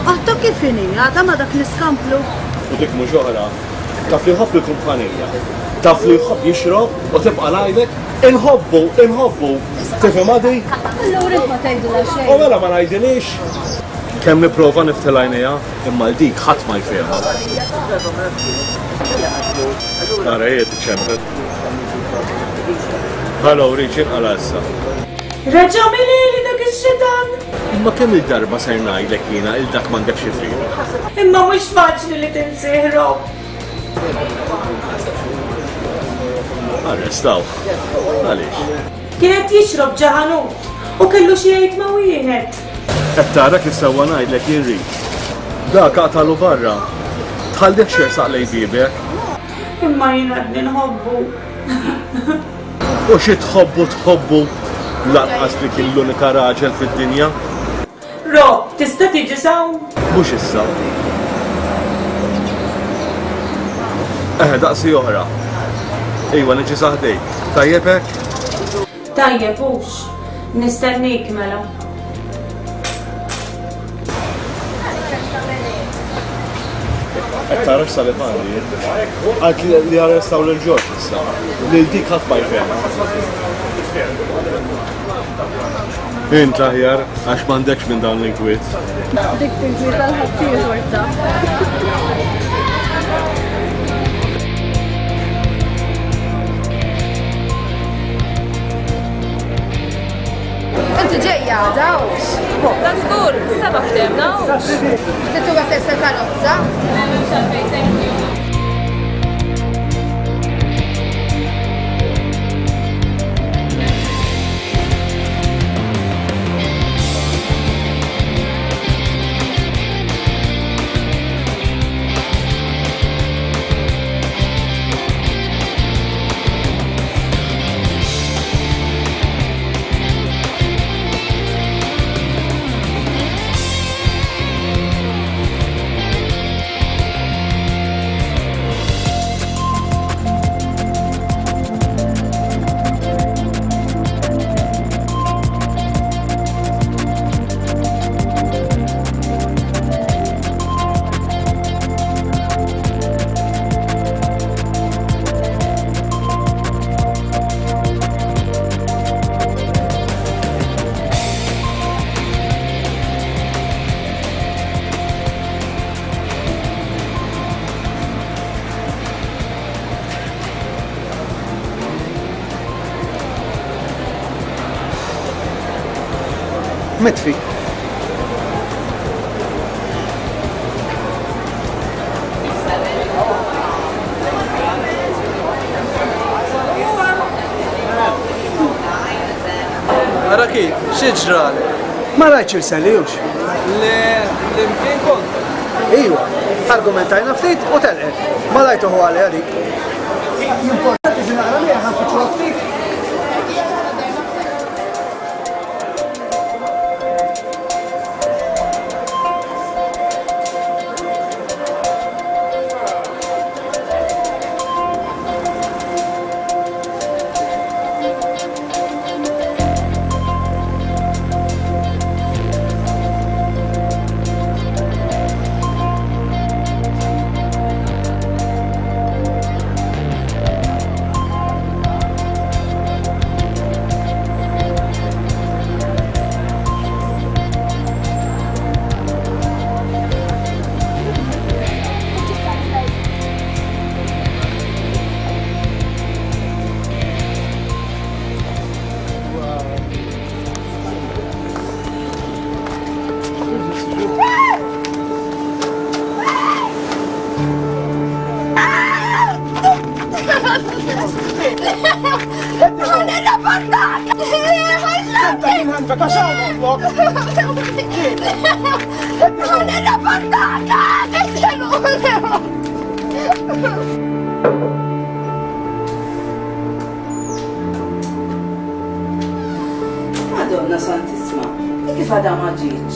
Għattu kif inhi, għadha ma dak l-iskamplu. U dik mhux oħra, taf li jħobb il-kumpanija, taf li jħobb jixrob u tibqa' ngħidlek inħobbu, inħobbu. Tifhem għadi? Allura int ma tgħidilha xejn. U mela ma ngħidilix. Kemm nipprova niftil għajnejha, imma l dik ħadd ma jfehmha. Ara hi tiċċempel. Hello, Rich, inqala' issa. Reġa' milili dak ix-xitan. Imma kemm il-darba ser ngħidlek jiena il dak m'għandekx xi tridu. Imma mhux faċli li tinsih, Rob. Arrestawh. Għaliex? Kien qed jixrob ġa ħanut u kellu xi jgħid ma' wieħed. Qed tara kif sewwa ngħidlek jien Rid. Dak aqtalu barra. Tħallihx jersaq lejn bibek. Imma jien għadni nħobbu. U xi tħobbu tħobbu lanqas li kien l-unika raġel fid-dinja. Rob, tista' tiġi s'hawn? Mhux issa. Eħe, daqsi oħra. Iwa, niġi sa ħdejk. Tajjeb hekk? Tajjeb hux. Nistennik mela. Qed tara x'sal għandi. Qalt li arrestaw lil Ġorġ issa. Lil dik ħadd ma jfehmha. Int aħjar għax m'għandekx minn dawn l-inkwiet. Dik tinkwieta l-ħaddieħor ta'. Inti ġejja għada hux? Ta' żgur, seba' ftehmna hux. Tittuha stess il-karozza? Le, m'hemmx għalfejn, thank you. Mitfi. Ara kif, xi ġralek? Ma rajtx il-Sally hux. Le, l-imkien kont. Iwa, argumentajna ftit u telqet. Ma rajtu hu għalija dik. Importanti ġi naqra miegħek ħanfittxuha ftit. Madonna Santissima, kif għadha ma ġietx?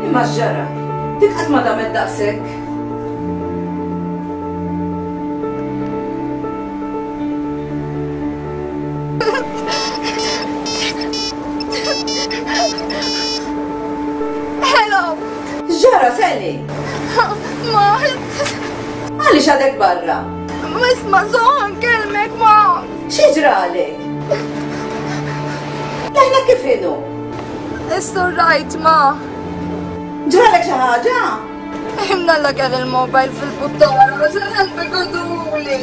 Imma x'ġara? Dik qatt ma damet daqshekk. Hello! X'ġara, Sally? Ma Għaliex għadek barra? Isma' soħan kelmek ma. Xi ġralek? Leħna kif inhu? It's all right, ma. Ġralek xi ħaġa? Imnalla kell il-mobile fil-buttara, għax bigoduli.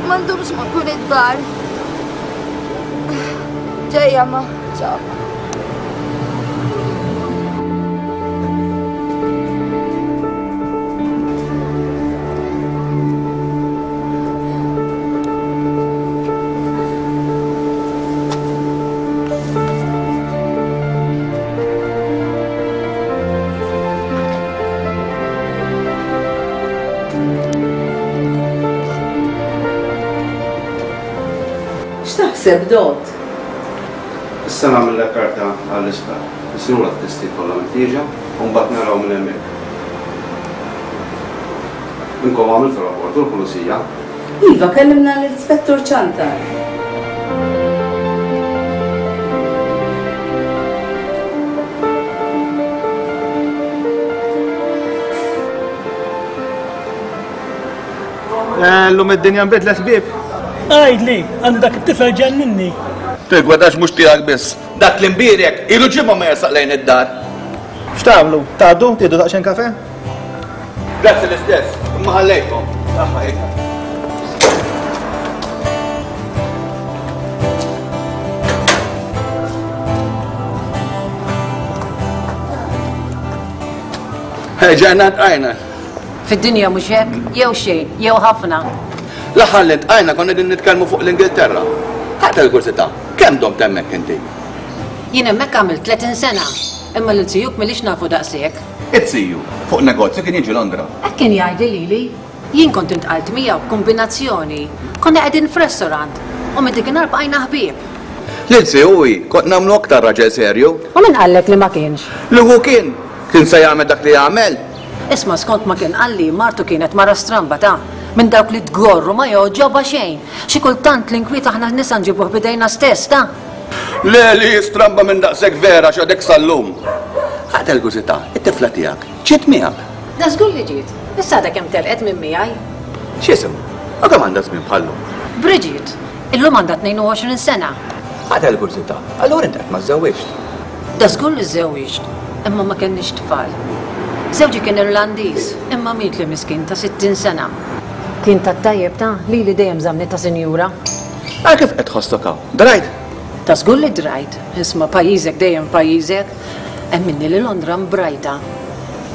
M'għandhomx ma kun id-dar. Ġejja ma, ċaw. X'taħseb Dot? Issa nagħmilha karta għall-isptar. Isirulha t-testi kollha meħtieġa u mbagħad naraw minn hemmhekk. Inkom għamiltu rapport u l-pulizija? Iva, kellimna l-Ispettur Ciantar. Llum id-dinja nbidlet ħbieb. Għajdli, għandu dak it-tifel ġenninni. Tigwadax mhux tiegħek biss. Dak li mbierek ilu ġimgħa ma jersaq lejn id-dar. X'tagħmlu? Tgħaddu? Tieħdu daqsxejn kafe? Grazzi l-istess, imma ħallejtkom. Saħħa hekk. Ġajna tqajna. Fid-dinja mhux hekk, jew xejn, jew ħafna. L-aħħar li tqajna konna qegħdin nitkellmu fuq l-Ingilterra. Ħadd il-kursità, kemm domt hemmhekk inti? Jien hemmhekk għamilt tletin sena, imma lil zijuk milix nafu daqshekk. It-ziju fuq negozju kien jiġi Londra. Hekk kien jgħidli lili. Jien kont intqalt miegħu b'kombinazzjoni. Konna qegħdin f'restaurant u minn dik bqajna ħbieb. Lil zijuwi kont nagħmlu aktar raġel serju. U min qallek li ma kienx? Li hu kien kien se jagħmel dak li jagħmel. Isma' skont ma kien qalli martu kienet mara stramba ta' minn dawk li tgorru ma joġoba xejn. Xi kultant l-inkwiet aħna nisa nġibuh bidejna stess ta' Le li stramba minn daqshekk vera x'għadek sal-lum. Ħadd il-kużità, it-tifla tiegħek, ġiet miegħek. Da żgur li ġiet. Issa għadha kemm telqet minn miegħi. X'isem? U kemm għandha żmien bħallum? Bridget, illum għandha tnejn u għoxrin sena. Ħadd il-kużità, allura int qatt ma żżewwiġt. Da żgur li żżewwiġt, imma ma kenniex tfal. Żewġi kien Irlandiż, imma miet li miskin ta' sittin sena. Kien tat-tajjeb ta' li li dejjem żamni ta' sinjura. Għal kif qed tħossok hawn? Drajt? Ta' żgur li drajt. Isma' pajjiżek dejjem pajjiżek. Hemm minni li Londra mbrajta.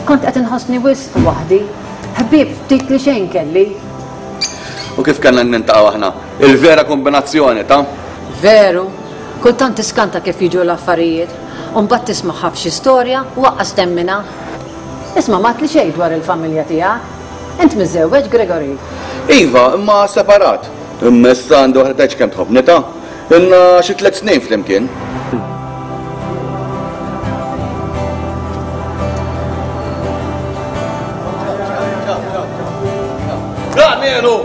Kont qed inħossni wisq waħdi. Ħbieb ftit li xejn kelli. U kif kellna nintaqgħu aħna? Il-vera kombinazzjoni ta' Veru. Kultant tiskanta kif jiġu l-affarijiet. U mbagħad tisma' f'xi storja u waqqas temmina. Isma' ma li xejn dwar il-familja tiegħek. Int miżżewweġ Gregory. Iva, imma separat. Imma issa għandi waħda tgħidx kemm tħobbni ta'. Ilna xi tliet snin flimkien. Danielu!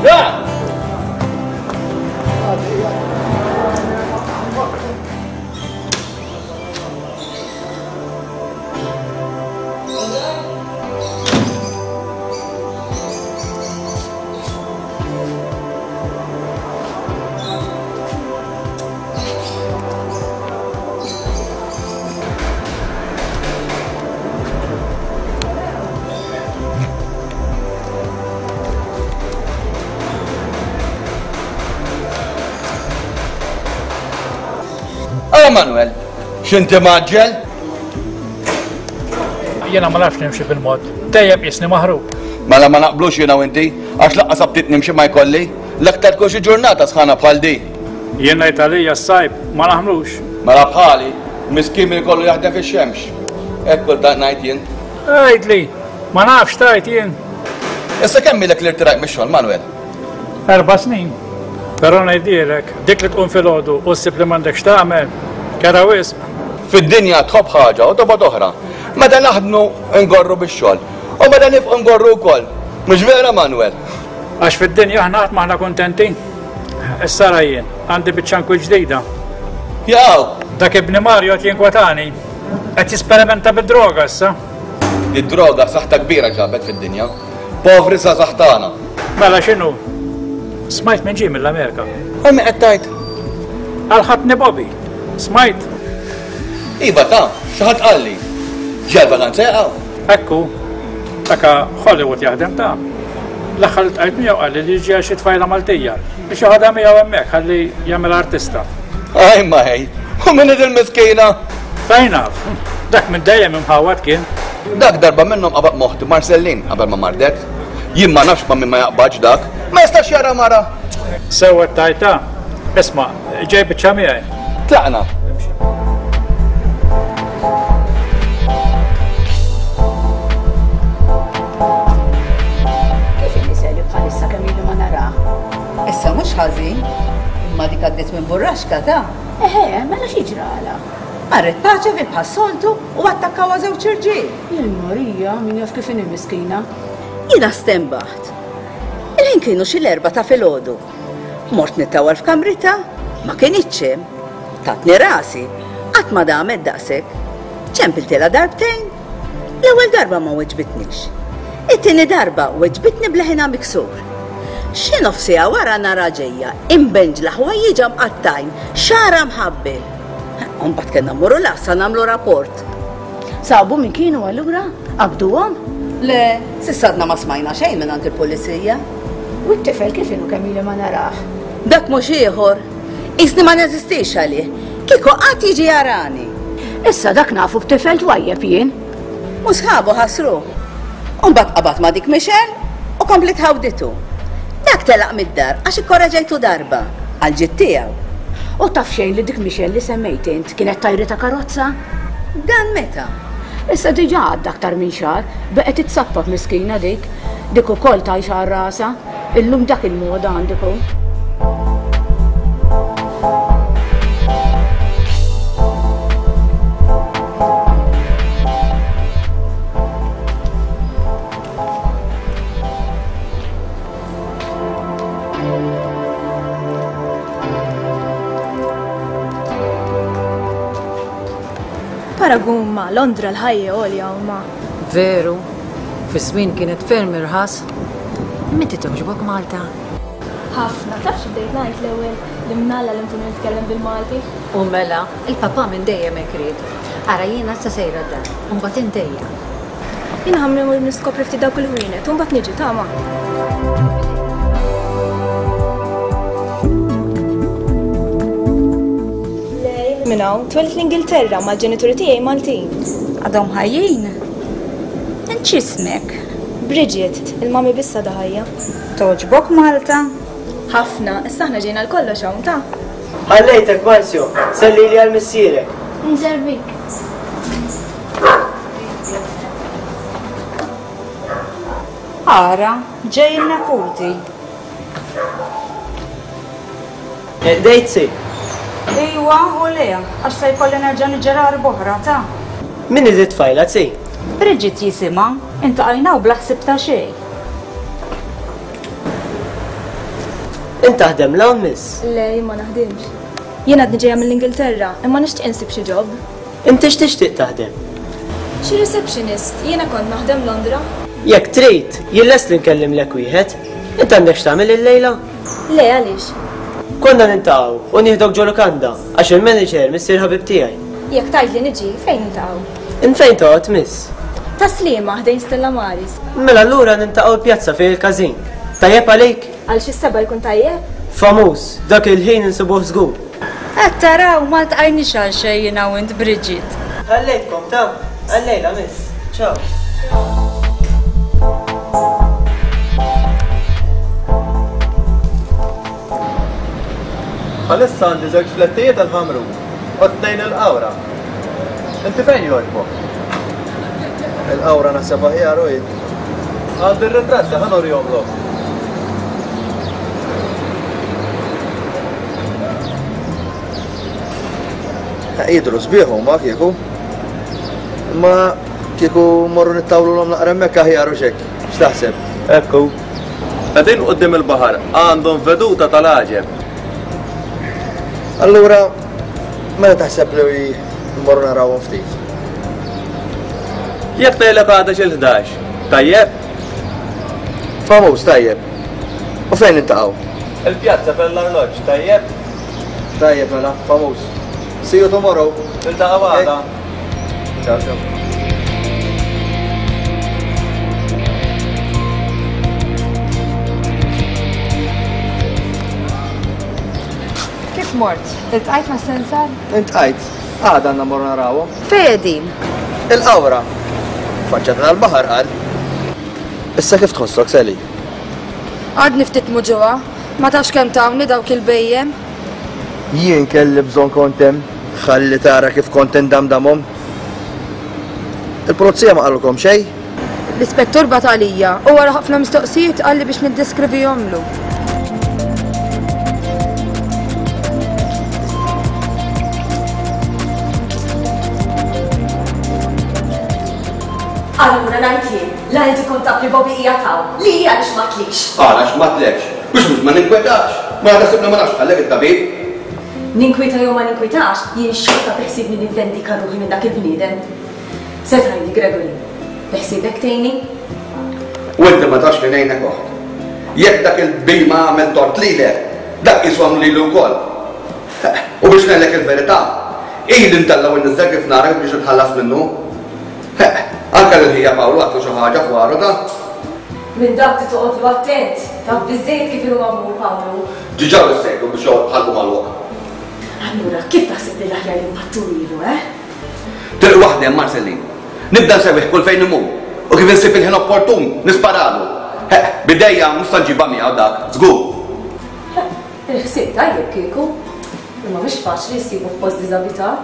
Dan! Manuel, x'inti maġġel? Jiena ma nafx nimxi bil-mod. Dejjem qisni maħrub. Mela ma naqblux jiena u inti, għax laqqas abtit nimxi ma jkolli, l-aktar tkun xi ġurnata sħana bħal di. Jien ngħid għalija s-sajb ma naħmlux. Mela bħali, miskin min ikollu jaħdem fix-xemx. Hekk kultant ngħid jien. Għidli, ma nafx tajt jien. Issa kemm ilek li rtirajt mix-xogħol, Manuel? Erba' snin. Però ngħidilek, dik li tqum filgħodu u ssib li m'għandekx tagħmel, kera wisq. Fid-dinja tħobb ħaġa u tobgħod oħra. Meta naħdmu ngorru bix-xogħol u meta nifqu ngorru wkoll. Mhux vera Manuel? Għax fid-dinja aħna qatt m'aħna kuntenti. Issa ra jien, għandi biċċa nkwi ġdida. Jaw! Dak ibni Mario qed jinkwetani. Qed jisperimenta bid-droga issa. Id-droga saħta kbira ġabet fid-dinja. Povri sa saħtana. Mela x'inhu? Smajt minn ġie mill-Amerika. Għal qed tgħid? Għal ħatni Bobby. Smajt? Iva ta' xi ħadd qalli. Ġej vaganza jaqgħu. Ekku, taka Hollywood jaħdem ta'. L-aħħar li tqajt miegħu qalli li ġie xi tfajla Maltija biex joħodha miegħu hemmhekk ħalli jagħmel artista. Aj ma ħej, u min il-miskina? Fejn naf? Dak minn dejjem imħawad kien. Dak darba minnhom qabad moħti Marcellin qabel ma mardet. Jien ma nafx ma min ma jaqbadx dak. Ma jistax jara mara. Sewwa tajta. Isma', ġej biċċa miegħi. Tlaqna. Kif inhi bħalissa kemm ilu ma narah? Issa mhux ħażin, imma dik għaddiet minn burraxka ta' Eħe, mela xi ġrala? Marret paċe bħas-soltu u attakkawha żewġ irġiel. Jien Marija, min jaf kif inhi miskina. Jiena stembaħt. Il-ħin kienu xi l-erba' ta' filgħodu. Mort nittawal f'kamrita, ma kinitx hemm. Tatni rasi, qatt ma damet daqshekk. Ċempiltilha darbtejn. L-ewwel darba ma weġbitnix. It-tieni darba weġbitni bleħinha miksur. Xi nofs siegħa wara nara ġejja, imbenġla ħwejjiġha mqattajn, xagħarha mħabbel. U mbagħad kellna mmorru l-għassa nagħmlu rapport. Sabu min kienu allura? Qabduhom? Le, s'issa għadna ma smajna xejn minn għand il-pulizija. U t-tifel kif inhu kemm ili ma narah? Dak mhux ieħor. Qisni ma neżistix għalih. Kieku qatt jiġi jarani. Issa dak nafu b'tifel twajjeb jien. U sħabu ħasruh. U mbagħad qabad ma' dik Michelle u komplet ħawditu. Dak telaq mid-dar għax ikkoraġejtu darba għal ġid tiegħu. U taf xejn li dik Michelle li semmejt int kienet tajri ta' karozza? Dan meta? Issa diġà għadda aktar minn xahar, beqgħet titsappap miskina dik. Dik ukoll tgħix għal rasha. Illum dak il-moda għandikom. Paragun ma' Londra l-ħajja għolja u ma. Veru, fi żmien kienet ferm irħas. Imma inti togħġbok Malta? Ħafna, taf xi bdejt ngħid l-ewwel li mnalla li nkunu nitkellem bil-Malti. U mela, il-papà minn dejjem hekk ried. Ara jiena issa sejra d-dar, u mbagħad intejja. Jiena ħa mmur niskopri ftit dawk il-ħwienet u mbagħad niġi tama. Minn hawn, twelidt l-Ingilterra mal-ġenituri tiegħi Maltin. Għadhom ħajjin? Int x'ismek? Bridget, il-mami biss għadha ħajja. Togħġbok Malta? Ħafna, issa aħna ġejna l-kollox hawn ta'. Ħallejtek Marzio, sellili għal missierek. Nservik. Ara, ġej il-neputi. Dejt si. Iwa, u le, għax se jkolli nerġa' niġġera oħra ta'. Min hi tfajla si? Bridget jisimha, intqajna u bla ħsieb ta' xejn. Int taħdem l-hawn miss? Le, jien ma naħdimx. Jien għadni ġejja mill-Ingilterra, imma nixtieq insib xi job. Inti x'tixtieq taħdem? Xi receptionist, jiena kont naħdem Londra. Jekk trid, jien lest li nkellimlek wieħed. Int għandek x'tagħmel illejla? Le, għaliex? Konna nintaqgħu u nieħdok ġo lukanda għax il-manager missier ħabib tiegħi. Jekk tgħidli niġi, fejn nintaqgħu? Int fejn toqgħod miss? Taslima ħdejn Stella Maris. Mela allura nintaqgħu l-pjazza fejn il-każin. Tajjeb għalik? Għal xi seba' jkun tajjeb? Famuż, dak il-ħin insibuh żgur. Qed taraw ma ltqajniex għal xejn jiena u int Bridget. Ħallejtkom ta' għal-lejla miss. Ciao. Għalissa għandi żewġ flettijiet għal-ħamru u tnejn il-qawra. Inti fejn jogħġbok? Il-qawra naħseb aħjar u jien. Għandi r-ritratti ħa nurihomlok. Jidhru sbieħ huma kieku. Imma kieku morru nittawlulhom naqra hemmhekk aħjar u x'hekk. X'taħseb? Ekku. Qegħdin quddiem il-baħar għandhom veduta tal-għaġeb. Allura, mela taħseb li mmorru narawhom ftit? Jekk tgħidlek għada xi l-ħdax, tajjeb? Famuż, tajjeb. U fejn nintaqgħu? Il-pjazza fejn l-arloġġ, tajjeb? Tajjeb mela, famuż. See you tomorrow. Niltaqgħu għada. Ciao, ciao. Kif mort? Iltqajt ma' sensar? Intqajt. Għada għandna mmorru narawhom. Fejn qegħdin? Il-qawra. Faċċata tal-baħar qal. Issa kif tħossok, Sally? Għadni ftit muġugħa. Ma tafx kemm tawni dawk il-bejjem. Jien kelli bżonn kont hemm. Ħalli tara kif kont indamdamhom. Il-pulizija ma qalulkom xejn? L-ispettur bagħat għalija u wara ħafna mistoqsijiet qalli biex niddeskrivihomlu. Allura ngħid jien, la inti kont taf li Bobby hija taw, li hija għaliex ma tlix. Għalax ma tlekx, biex mhux ma ninkwetax. Ma naħsibna ma nafx għalhekk it-tabib. Ninkwita jew ma ninkwitax, jien xorta beħsibni nivvendika ruħi minn dak il-bniedem. Se tgħidli Gregory, beħsibek tgħinni? U inti ma tafx li ngħinek oħt. Jekk dak il-bima għamel tort lilek, dak qisu għamlu lilu wkoll. U biex ngħidlek il-verità, ili ntella' u nniżżel kif narak biex nitħallas minnu. Anke lil ħija Pawlu għatlu xi ħaġa fwaru ta'. Minn dak ti toqgħodlu attent, taf biżejjed kif inhu magħmul Pawlu. Ġiġa wissejtu biex joqgħod ħalqu magħluq. Allura, kif taħseb li l-aħjar li npattu ilu, eh? Triq waħda hemm Marcellin. Nibda nsewwih kull fejn imur. U kif insib il-ħin opportun, nisparalu. Bidejja mhux se nġibha miegħu dak, żgur. Il-ħsieb tajjeb kieku. Imma mhux faċli jsibu f'post diżabitat.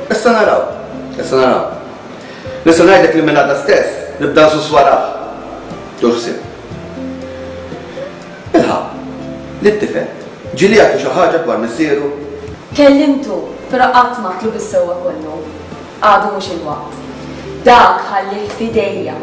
Issa naraw, issa naraw. Nista' ngħidlek li minn għada stess nibda nsus warah. Tuħsib. Ilħaq, li t-tifel ġieli jagħtu xi ħaġa dwar missieru? Kellimtu, però qatt ma għatlu bis-sewwa kollu. Għadu mhux il-waqt. Dak ħallih f'idejja.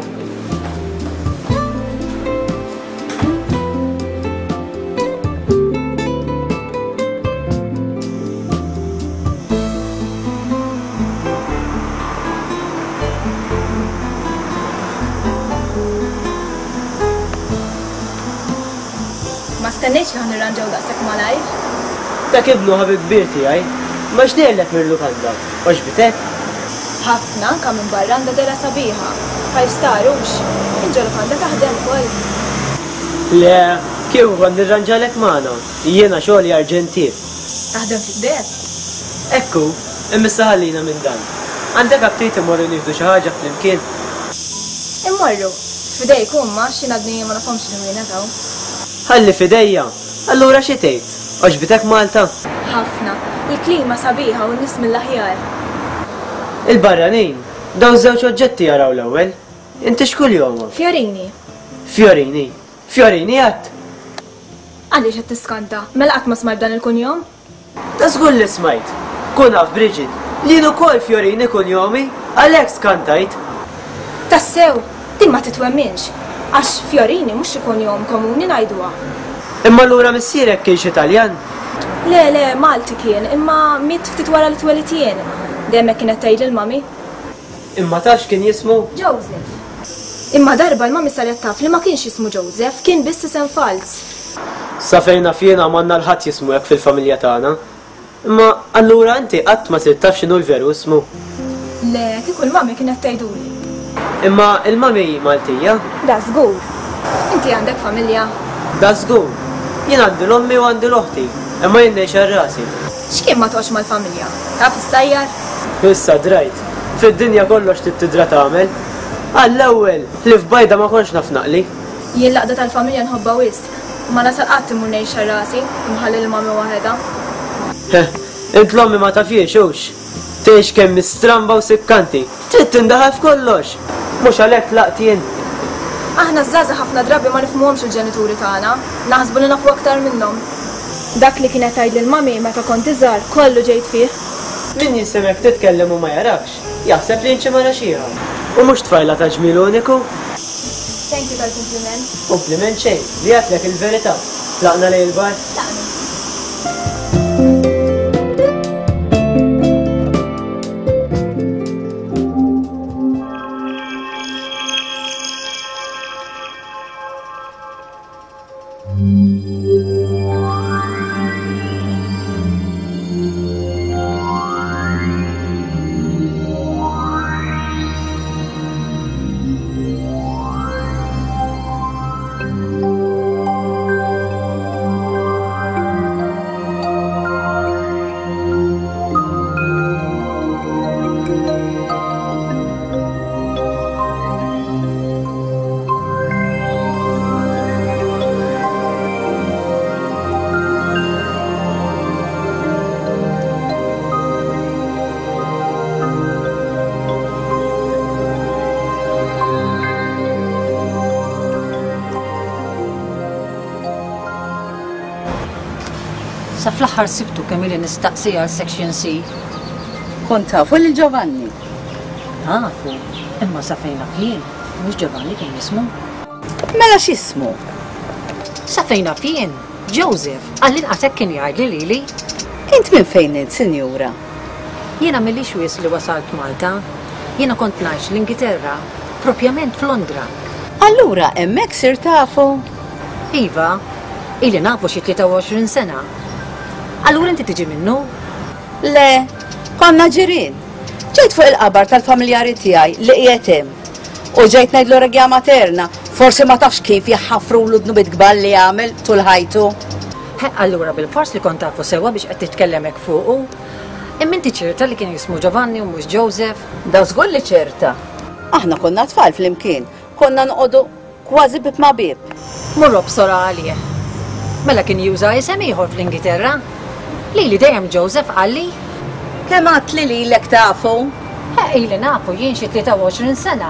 Ma stennejtx li ħa nirranġaw daqshekk malajr. Dak ibnu ħabib kbir tiegħi, ma x'dejlek mill-lukanda, għoġbitek? Ħafna, anka minn barra għandha dehra sabiħa. Five star hux. Int ġo lukanda taħdem ukoll. Le, kieku kont nirranġalek magħna. Jiena xogħli arġentier. Taħdem fid-deheb? Ekku, imma issa ħallina minn dan. Għandek aptit immorru nieħdu xi ħaġa flimkien? Immorru. F'idejk huma għax jien għadni ma nafhomx il-ħwienet hawn. Ħalli f'idejja. Allura xi tgħid? Għoġbitek Malta? Ħafna. Il-klima sabiħa u n-nies mill-aħjar. Il-barranin, dawn żewġ oġġetti jaraw l-ewwel. Inti x'kuljomhom? Fjorini. Fjorini. Fjorini għadd. Għaliex qed tiskanta? Mela qatt ma smajt dan il-kunjom? Ta' żgur li smajt. Kun naf Bridget, li jien ukoll Fjorini kunjomi, għalhekk skantajt. Tassew, din ma titwemminx. Għax Fjorini mhux xi kunjom komuni ngħiduha. Imma allura missierek kien xi Taljan? Le, le, Malti kien, imma miet ftit wara li twelidt jien. Dejjem hekk kienet tgħidli l-mami. Imma taf x'kien jismu? Joseph. Imma darba l-mami saret taf li ma kienx jismu Joseph, kien biss isem falz. Sa fejn naf jiena m'għandna l-ħadd jismu hekk fil-familja tagħna. Imma allura inti qatt ma sirt taf x'inhu l-veru ismu? Le, kieku l-mami kienet tgħiduli. Imma l-mami Maltija? Da żgur. Inti għandek familja? Da żgur. Jien għandi l-ommi u għandi l-oħti, imma jien ngħix għal rasi. X'kien ma toqgħodx mal-familja? Taf issajjar? Issa drajt. Fid-dinja kollox trid tidra tagħmel. Għall-ewwel, ħlief bajda ma kontx naf naqli. Jien l-għaqda tal-familja nħobbha wisq. Ma nasal qatt immur ngħix għal rasi, imħalli l-mami waħedha. Heh, int l-ommi ma tafhiex hux. Tgħix kemm stramba u sikkanti. Trid tindaħal f'kollox. Mhux għalhekk tlaqt jien. Aħna żgħażagħ ħafna drabi ma nifhmuhomx il-ġenituri tagħna, naħsbu li nafu aktar minnhom. Dak li kienet tgħidli l-mami meta kont iżgħar kollu ġejt fih. Min jisimek titkellem u ma jarakx, jaħseb li inti mara xieħa. U mhux tfajla ta' ġmiel uniku. Thank you tal-kumpliment. Kumpliment xejn, li għedtlek il-verità. Tlaqna lejn il-bar? Tlaqna. Sa fl-aħħar sibtu kemm ili nistaqsi għal Section C. Kont tafu lil Giovanni? Nafu, imma sa fejn naf jien, mhux Giovanni kien jismu. Mela x'ismu? Sa fejn naf jien, Joseph, għall-inqas hekk kien jgħidli lili. Int minn fejn int, sinjura? Jiena m'ilix wisq li wasalt Malta. Jiena kont ngħix l-Ingilterra, propjament f'Londra. Allura hemmhekk sirt tafu? Iva, ili nafu xi tlieta u għoxrin sena. Allura inti tiġi minnu? Le, konna ġirien. Ġejt fuq il-qabar tal-familjari tiegħi li qiegħed hemm. U ġejt ngħidlu regia materna, forsi ma tafx kif jaħafrulu dnubiet kbar li għamel tul ħajtu. He, allura bil-fors li kont tafu sewwa biex qed titkellem hekk fuqu. Imma inti ċerta li kien jismu Giovanni u mhux Joseph? Da żgur li ċerta. Aħna konna tfal flimkien, konna noqogħdu kważi bib ma' bib. Mur obsora għalih. Mela kien juża isem ieħor fl-Ingilterra. Lili dejjem Joseph qalli. Kemm għadt li lilek tafu? He, ili nafu jien xi tlieta u għoxrin sena.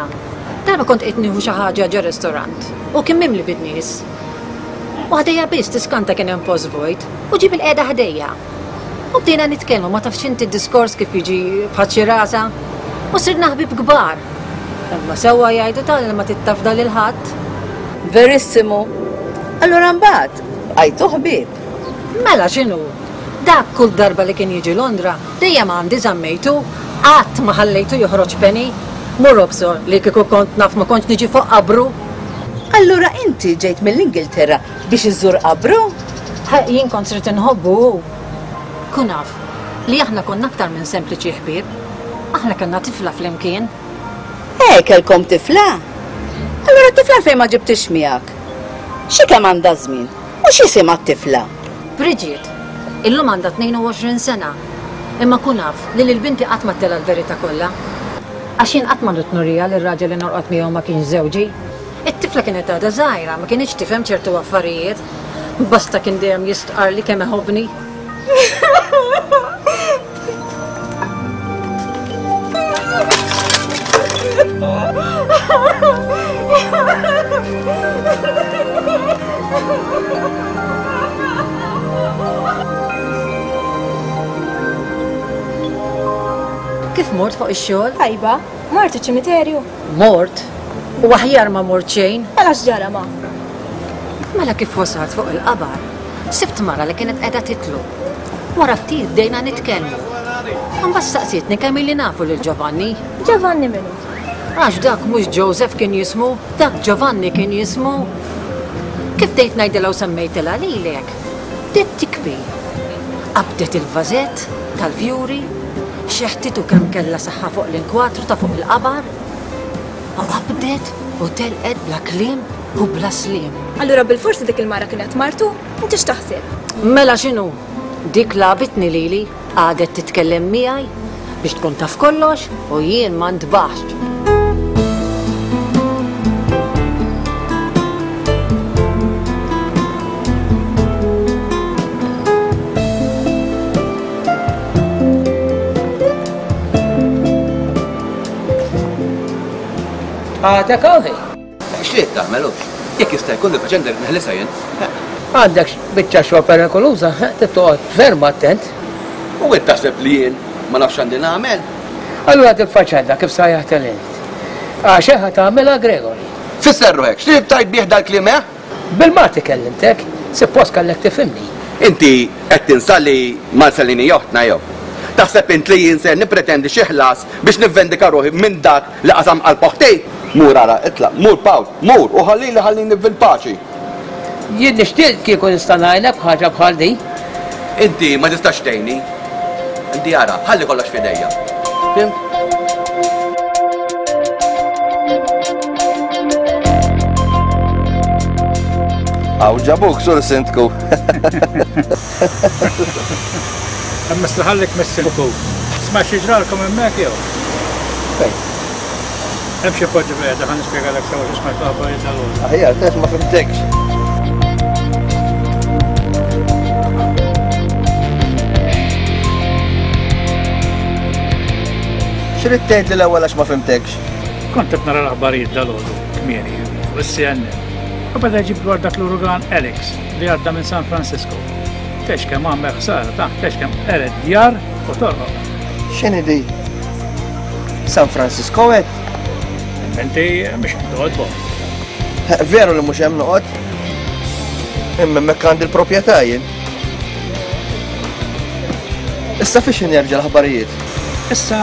Darba kont qed nieħu xi ħaġa ġo restorant u kien mimli bin-nies. U ħdejja biss tiskanta kien hemm post vojt u ġie bil-qiegħda ħdejja. U bdejna nitkellmu ma tafx inti d-diskors kif jiġi bħal xi rasa. U sirna ħbieb kbar. Imma sewwa jgħidu tal li ma tittafda lil ħadd. Verissimu. Allura mbagħad bqajtu ħbieb. Mela x'inhu? Dak kull darba li kien jiġi Londra, dejjem għandi żammejtu, qatt ma ħallejtu joħroġ penny. Mur obsor li kieku kont naf ma kontx niġi fuq qabru. Allura inti ġejt mill-Ingilterra biex iżżur qabru? Ħa, jien kont sirt inħobbu hu. Kun af li aħna konna aktar minn sempliċi ħbieb. Aħna kellna tifla flimkien. Eh, kellkom tifla? Allura t-tifla fejn ma ġibtix miegħek? Xi kemm għandha żmien? U x'isimha t-tifla? Bridget, illum għandha tnejn u għoxrin sena. Imma kun af li lil binti qatt ma tela l-verità kollha. Għax jien qatt ma rrid nuriha li r-raġel li norqod miegħu ma kienx żewġi. It-tifla kienet għadha żgħira, ma kienx tifhem ċertu affarijiet. Basta kien dejjem jistqar li kemm iħobbni. Kif mort fuq ix-xogħol? Tajba, mort iċ-ċimiterju. Mort? U aħjar ma mort xejn. Mela x'ġara ma? Mela kif wasalt fuq il-qabar, sibt mara li kienet qiegħda titlu. Wara ftit bdejna nitkellmu. Imbagħad staqsietni kemm ili nafu lil Giovanni. Giovanni minnu? Għax dak mhux Joseph kien jismu, dak Giovanni kien jismu. Kif bdejt ngħidilha u semmejtilha lilek, bdiet tikbi. Qabdet il-vażett tal-fjuri, xeħtitu kemm kellha saħħa fuq l-inkwatru ta' fuq il-qabar, u qabdet u telqet bla kliem u bla sliem. Allura bil-forsi dik il-mara kienet martu, inti x'taħseb? Mela x'inhu? Dik lagħbitni lili, għadet titkellem miegħi biex tkun taf kollox u jien ma ntbaħx. Għadek għawħi. X'ried tagħmel hux? Jekk jista' jkun il-faċenda rrid neħlisha jien. Għandek biċċa xogħol perikoluża, trid toqgħod ferm attent. U int taħseb li jien ma nafx għandi nagħmel? Allura dil-faċenda kif sajjaħt int? Għax ħa tagħmilha Gregory. Fisser ruħek, x'trid tgħid bih dal-kliem, eh? Bil-Malti kellimtek, suppost kellek tifhimni. Inti qed tinsa li Marcellini joħtna jew? Taħseb int li jien ser nippretendi xi ħlas biex nivvendika ruħi minn dak li qasam qalb oħti? Mur ara, itlaq, mur Pawl, mur u ħallili ħallini fil-paċi. Jien nixtieq kieku nista' ngħinek b'ħaġa bħal din. Inti ma tistax tgħinni. Inti ara, ħalli kollox f'idejja. Fimt? Aw ġabuk sur sindku. Imma ħallik mis-sindku. Sma' xi ġralkom hemmhekk jew? Fejn? Hemm xi poġġi qiegħda ħa nispjegalek sewa xi smajt l-aħbarijiet tal-għodu. Aħjar, tef ma fimtekx. X'rid tgħid li l-ewwel għax ma fimtekx? Kont qed nara l-aħbarijiet dal-għodu kmieni fuq is-C N N. U beda jġib dwar dak l-urugan Alex li għadda minn San Francisco. Tex kemm għamel ħsara ta' tex kemm qered djar u torroq. X'inhi di? San Francisco qed? Inti mhux hemm toqgħod fuq. Veru li mhux hemm noqgħod. Imma hemmhekk għandi l-proprjetà jien. Issa fiex jerġa' l-aħbarijiet? Issa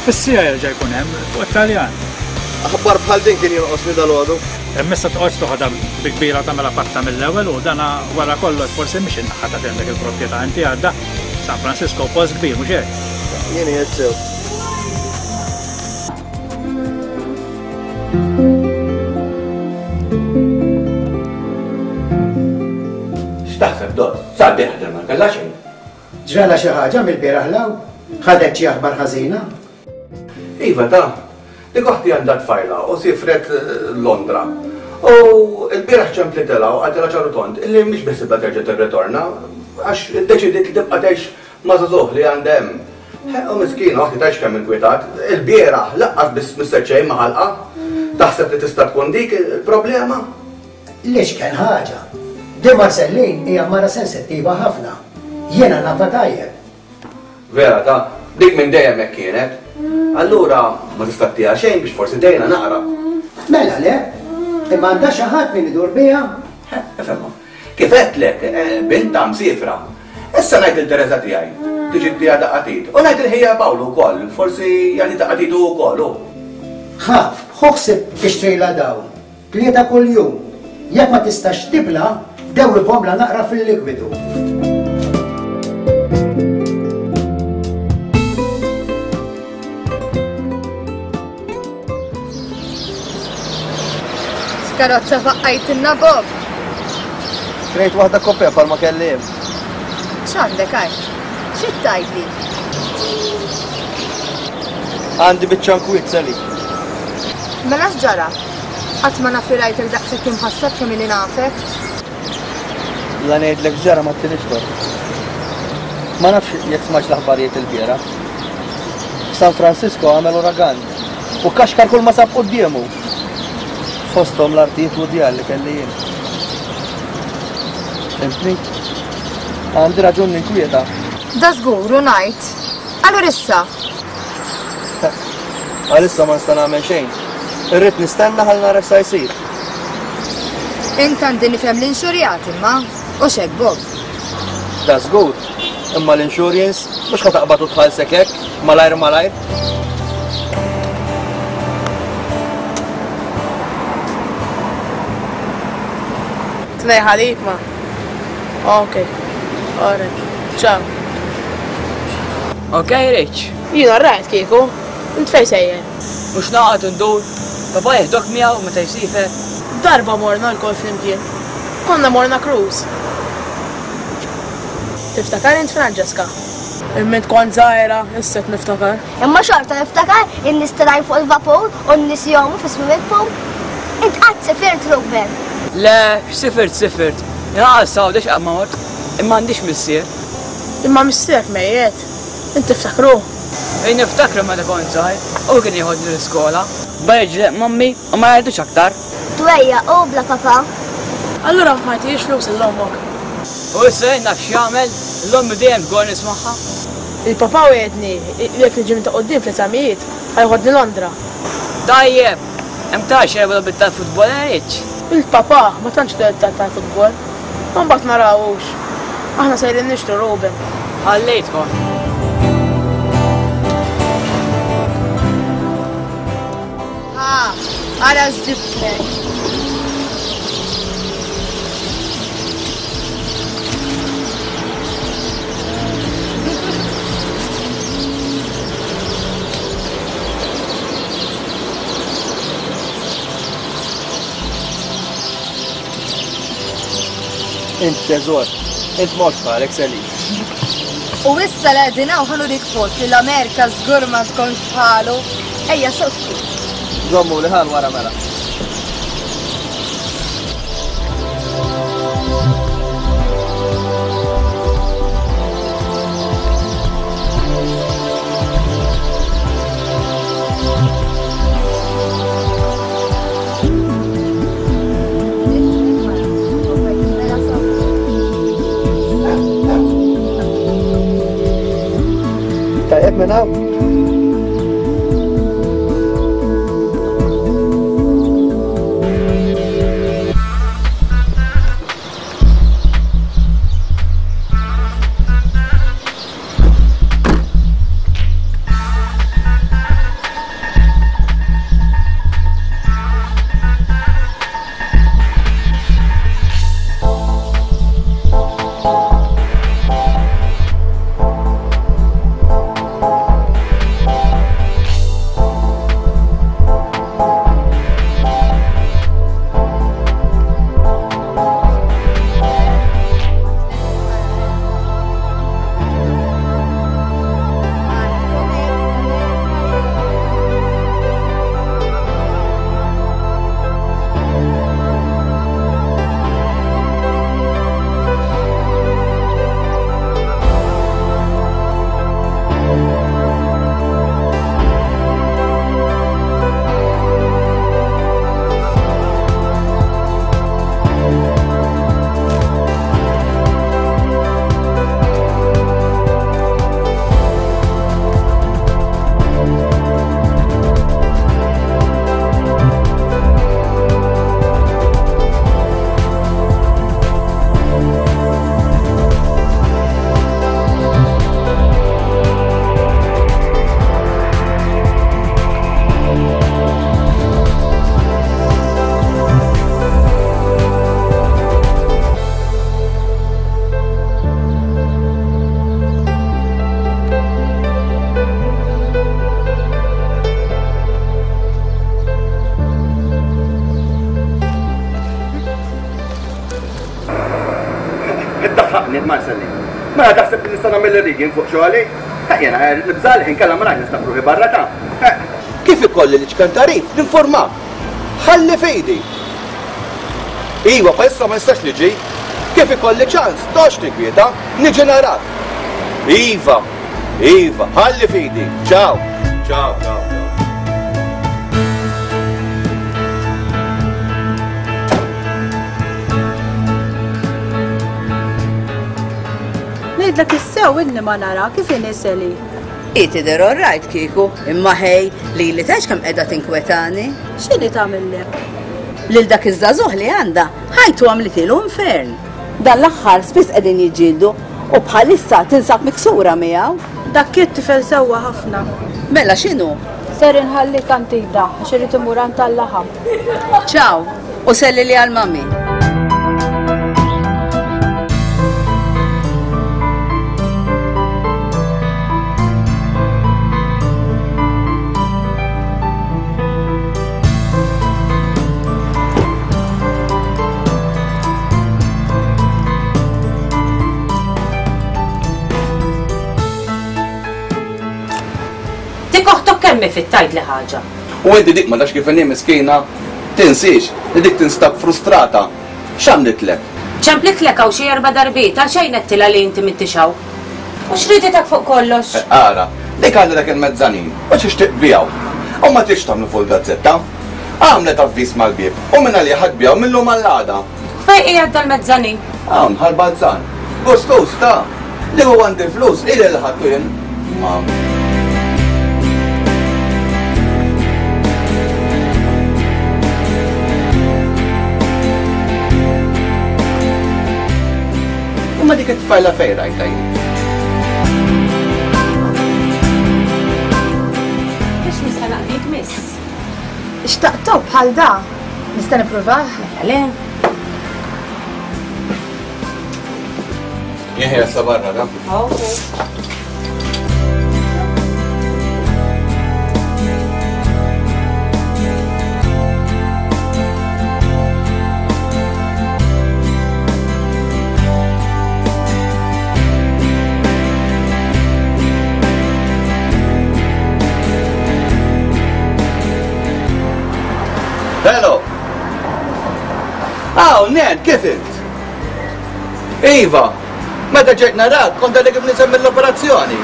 fis-sija jerġa' jkun hemm fuq it-Taljan. Aħbar bħal din kien jonqosni dalgħodu. Imma issa toqgħodx toħodha bi kbira tagħmilha fatta mill-ewwel u dana wara kollox forsi mhix in-naħa ta' għandek il-proprjetà inti għadda San Francisco post kbir mhux hekk. Jien qiegħed sew. X'taħseb Dot? Sabiħ ħdem ma kellha xejn. Ġrala xi ħaġa mill-bieraħ law? Ħadet xi aħbar ħażina? Iva ta, dik oħti għandha tfajla u sifret Londra. U l-bieraħ ċemplitilha u qaltilha ċaru tont illi mhix biħsibha terġa' tirritorna għax iddeċidiet li tibqa' tgħix ma' żagħżugħ li għandha hemm. U miskina oħti tgħix kemm inkwetat, il-bieraħ laqqas biss misset xejn ma' ħalqa. Taħseb li tista' tkun dik il-problema? Lix kien ħaġa. Di Marcellin hija mara sensittiva ħafna. Jiena nafa tajjeb. Vera ta, dik minn dejjem hekk kienet. Allura ma tista' ttiha xejn biex forsi dejna naqra. Mela le, imma għandha xi ħadd min idur biha? Ifhimha. Kif għedtlek, binta msifra. Issa ngħid il Teresa tiegħi, tiġi ttiha daqatit. U ngħid il-ħija Pawlu wkoll, forsi jagħti daqatitu wkoll hu. Ħaf, ħoħsib tixtrilha dawn. Tlieta kuljum. Jekk ma tistax tibla, dewwibhomla naqra fil-likwidu. X'karozza faqqajtilna Bob? Xtrejt waħda kopja bħalma kelli hemm. X'għandek għajt? Xi tgħidli? Għandi biċċa nkwiet Sally. Mela x'ġara? Qatt ma naf li rajtek daqshekk imħasseb kemm ili nafek. La ngħidlek x'ġara ma ttinix tort. Ma nafx jekk smajtx l-aħbarijiet il-bieraħ. F'San Francisco għamel uragan u kaxkar kull ma sab quddiemu. Fosthom l-artijiet u djar li kelli jien. Fhimtni? Għandi raġun ninkwieta. Da żgur u ngħid. Allura issa? Għalissa ma nista' nagħmel xejn. Irrid nistenna ħalli nara x'sa jsir. Int għandi nifhem l-inxurjat imma, u x'hekk Bob. Da żgur, imma l-insurance mhux ħa taqbad u tħallsek hekk, malajr malajr. Tnej ħalib ma. Ok. Alright. Ciao. Ok, Rich. Jiena rajt kieku. Int fejn sejjer? Mhux naqgħod ndur. Papa jeħdok miegħu meta jsifer. Darba morna lkoll flimkien. Konna morna cruise. Tiftakar int Francesca? Imma int kont żgħira, issa qed niftakar. Imma xorta niftakar in-nies telgħin fuq il-vapur u n-nies jgħumu fi swimming pool. Int qatt sifirt, Ruben? Le, x'sifirt sifirt. Inqas Għawdex qatt ma mort. Imma għandix missier. Imma missierek mejjet. Int tiftakru? Ej niftakru meta kont żgħir, u kien jieħodni l-iskola. Bajġlek mammi u ma jgħidux aktar. Twejja u bla papa. Allura ma jtijiex flus l-ommok. U issa jien naf x'jagħmel, l-ommi dejjem tgħol nismagħha. Il-papa wegħedni jekk niġi minn ta' quddiem fl-eżamijiet, ħajħodni Londra. Tajjeb, hemm tara xi logħbiet tal-futbol Rich. Il-papa ma tantx logħbiet tal-futbol. Ma mbagħad narawhux. Aħna sejrin nixtru Ruben. Ħallejtkom. Ha, ara x'ġibtlek. Int teżor, int mhux bħalek Sally. U issa li qegħdin hawn ħa nurik post li l-Amerika żgur ma tkunx bħalu. Ejja suq ftit. Żommu li ħal wara mela. Tajjeb minn hawn? Marcelin. Mela taħseb li nista' nagħmel irrigin fuq xogħli? Jiena nibża' li inkella ma ngħid nistab ruħi barra ta'. Kif ikolli li ċkan tarif, ninformak. Ħalli f'idi. Iwa, bħalissa ma nistax niġi. Kif ikolli ċans, tox tinkwieta, niġi narak. Iva, iva, ħalli f'idi. Ciao. Ciao, ciao. Ngħidlek issew inni ma nara kif inhi Sally. Hi tidher all right kieku, imma ħej li li tgħix kemm qiegħda tinkwetani. X'inhi tagħmillek? Lil dak iż-żagħżugħ li għandha ħajtu għamlitilu infern. Dan l-aħħar spiss qegħdin jiġġieldu u bħalissa tinsab miksura miegħu. Dak it-tifel sewwa ħafna. Mela x'inhu? Ser inħallik għand Ida għax irid imur għand tal-laħam. Ciao, u selli li għal mami. Kemm fit-tajt li ħaġa. U inti dik ma tafx kif inhi miskina, tinsiex li dik tinstab frustrata. X'għamlitlek? Ċemplitlek hawn xi erba' darbiet għal xejn qedtilha li inti mittixaw. U x'riditek fuq kollox? Ara, dik għandha dak il-mezzanin u tixtieq biegħu. U ma tridx tagħmlu fuq il-gazzetta. Għamlet avviż mal-bieb u minn għalih ħadd biegħu mill-lum għall-għada. Fejn qiegħed dal-mezzanin? Hawn ħal-balzan. Gustus ta' li huwa għandi flus ili li ħadtu jien. Ma Ma dik it-tfajla fejn rajta jien? Biex nista' naqdik miss. Xtaqtu bħal da? Nista' nippruvah? Mela le. Jien sa barra da. Okay. Hello! Aw, Ned, kif int? Iva, meta ġejt narak, kont għadek kif nisem mill-operazzjoni.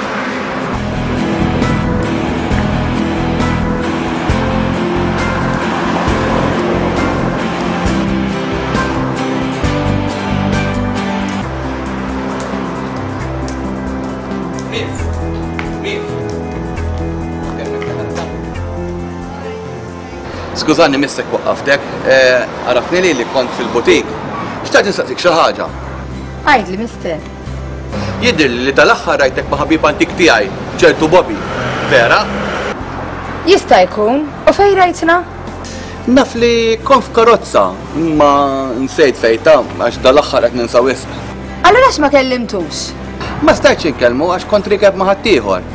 Miss, miss. Skużani missek waqqaftek, għarafni li li kont fil-butik. Xtaqt nistaqsik xi ħaġa. Għidli, mister. Jidhirli li tal-aħħar rajtek ma' ħabib antik tiegħi, ċertu Bobby. Vera? Jista' jkun. U fejn rajtna? Naf li kont f'karozza, imma nsejt fejta għax dal-aħħar qed ninsa wisq. Allura għax ma kellimtux? Ma stajtx inkellmu għax kont rikeb ma' ħaddieħor.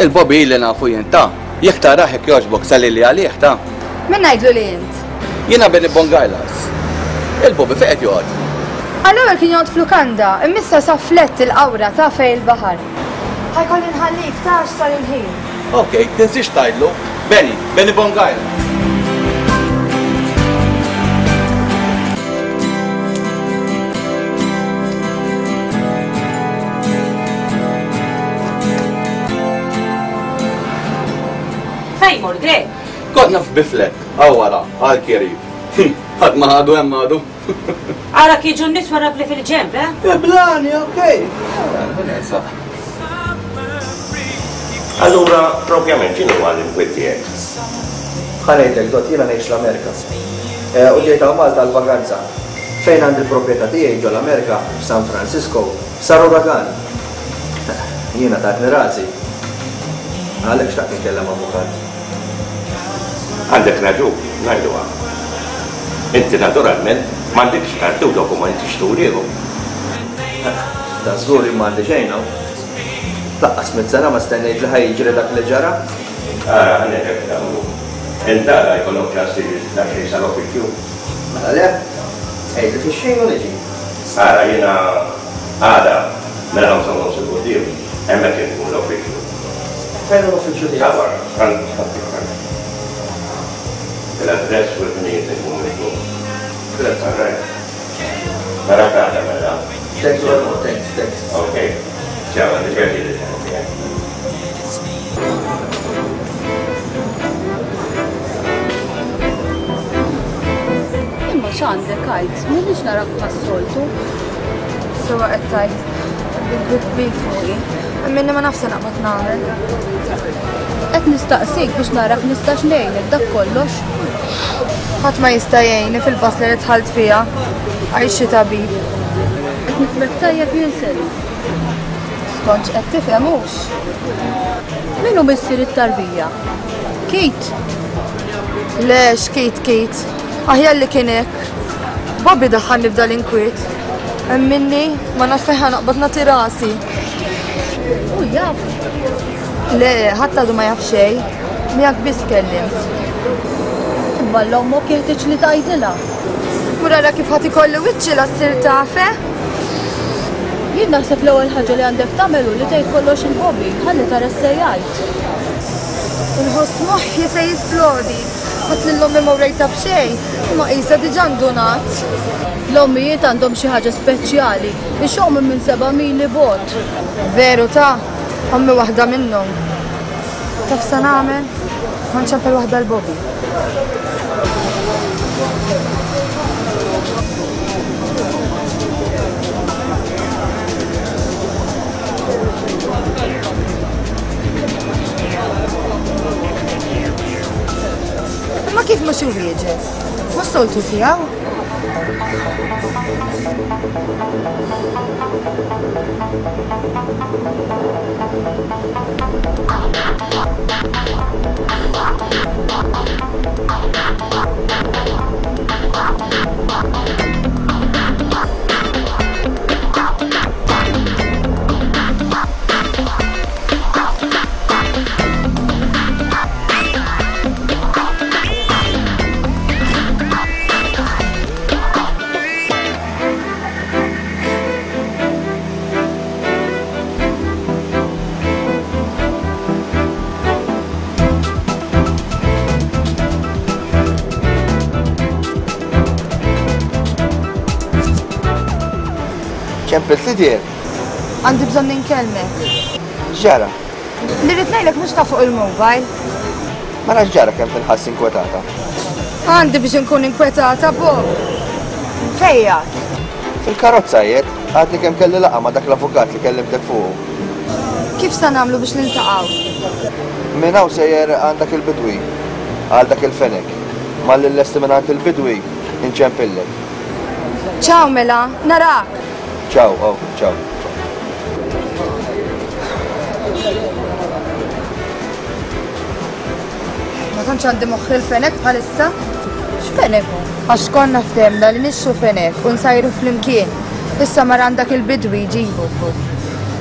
Il-Bobby li nafu jien ta' jekk tarah hekk jogħġbok salli li għalih ta'. Min ngħidlu li int? Jiena Benny Bongailas. Il-Bobby fejn qed joqgħod? Għall-ewwel kien joqgħod f'lukanda, imma issa sa flett il-qawra ta' fejn il-baħar. Ħajkolli nħallik ta' għax sar il-ħin. Ok, tinsiex tgħidlu. Benny, Benny Bongailas. Fejn mur, Greg? Konna f'biflet, għaw wara, għal kiri. Ħadd ma ħadu hemm għadu. Ara kieġu n-nies wara bli fil-ġemb, eh? Blani, okej. Allura, propjament, x'inhu huwa l-inkwiet tiegħek? Ħa ngħidlek, Dott, jiena ngħix l-Amerika. U ġejt hawn Malta għall-vakanza. Fejn għandi l-proprjetà tiegħi ġol Amerika, f'San Francisco, sar uragan. Jiena tatni rasi. Għalhekk xtaqt nitkellem avukat. Għandek raġun, ngħiduha. Inti naturalment m'għandekx karti u dokumenti x'turihom. Ta' żgur li m'għandi xejn hawn. Laqqas mitt sena ma stennejt li ħajjiġri dak li ġara. Ara, ħa ngħidlek nagħmlu. Int għala jkollok ċans tiġi daqsxejn sal-uffiċċju. Mela le, għidli fix-xejn u niġi. Ara, jiena Għada, mela ħamsa u nofs il-quddiem, hemmhekk inkun l-uffiċċju. Fejn hu l-uffiċċju tiegħek? Ta' barra, front. L-address u l-ħinijiet ikunu miktub. Grazzi. All right. Narak għada mela. Thanks very much, thanks, thanks. Okay. Ciao, għandi pjaċir li Imma x'għandek għid, m'għandix narak bħas-soltu. Sewa qed tgħid, bil-kbir kbir fuqi. Minni ma nafx se naqbad nagħmel. Qed nistaqsik biex narak nistax ngħinek dak kollox. Ħadd ma jista' jgħinni fil-basla li dħalt fiha, għajx xi tabib. Qed nifhmek tajjeb jien Sally. Skont x'qed tifhem hux. Min hu missier it-tarbija? Kate? Le, x'Kate Kate. Aħjar li kien hekk. Bobby daħħalni f'dal inkwiet. Hemm minni ma nafx fejn ħa naqbad nagħti rasi. U jaf. Le, ħadd għadu ma jaf xejn. Miegħek biss kellimt. Imma l-ommok jeħtieġ li tgħidilha. Mur ara kif ħadd ikolli wiċċi la ssir taf, eh? Jien naħseb l-ewwel ħaġa li għandek tagħmel hu li tgħid kollox il Bobby, ħalli tara x'se jgħid. Inħoss moħħi se jisplodi. Ħadd lil ommi ma wrejtha b'xejn, imma qisha diġà ndunat. L-ommijiet għandhom xi ħaġa speċjali, ixommu minn seba' mili bogħod. Veru ta', ommi waħda minnhom. Taf sa nagħmel? Ma nċempel waħda l-Bobby. Imma kif mhux iwieġeb? Mhux soltu tiegħu? Ċempelt li dir? Għandi bżonn ninkellmek. X'ġara? Li rrid ngħidlek mhux ta' fuq il-mobile. Ma nafx ġara kemm tinħass inkwetata. Għandi biex inkun inkwetata, Bob. Fejja? Fil-karozza jiet, għadni kemm kelli laqgħa ma' dak l-avukat li kellimtek fuqu. Kif sa nagħmlu biex niltaqgħu? Minn hawn sejjer għand dak il-bidwi, għal dak il-fenek. Malli llesti minn għand il-bidwi, inċempillek. Ciao mela, narak. Ciao, oh, ciao. Ma tantx għandi moħħ il-fenek bħalissa. X'fenek hu? Għax konna ftehmna li nixxu fenek u nsajru flimkien. Issa mar għandak il-bidwi jġibu.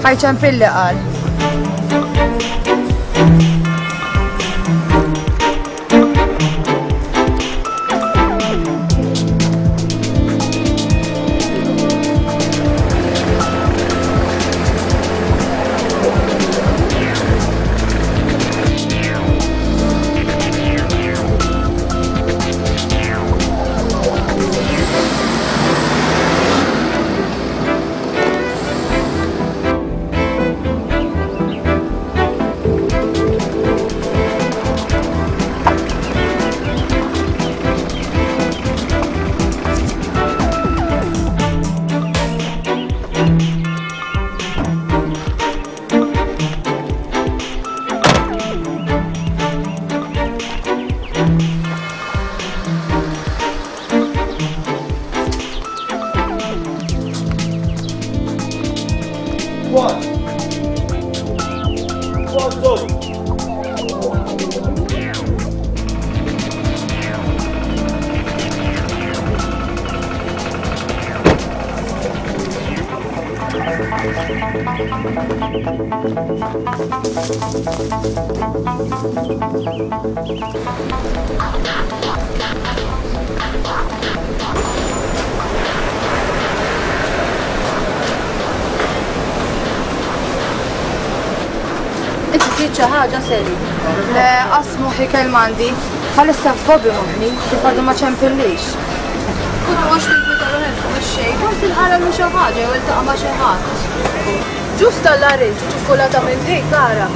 Ħajċempilli qal. Trid xi ħaġa Sally? Le, qas moħħi kelma għandi. Bħalissa f'Bobby moħħni, kif għadu ma ċempillix. U toqgħodx tinkwita ruħek fuq ix-xejn, forsi nqaralu xi ħaġa jew iltaqa' ma' xi ħadd. Ġust tal-larinġ u ċikkulata minn dik ara.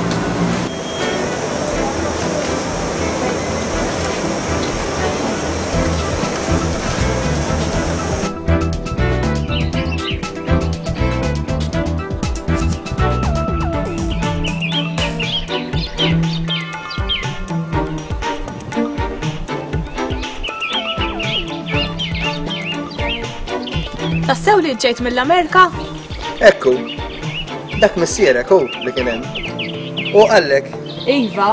Tassew li ġejt mill-Amerika? Ekku, dak missierek hu li kien hemm. U qallek. Iva,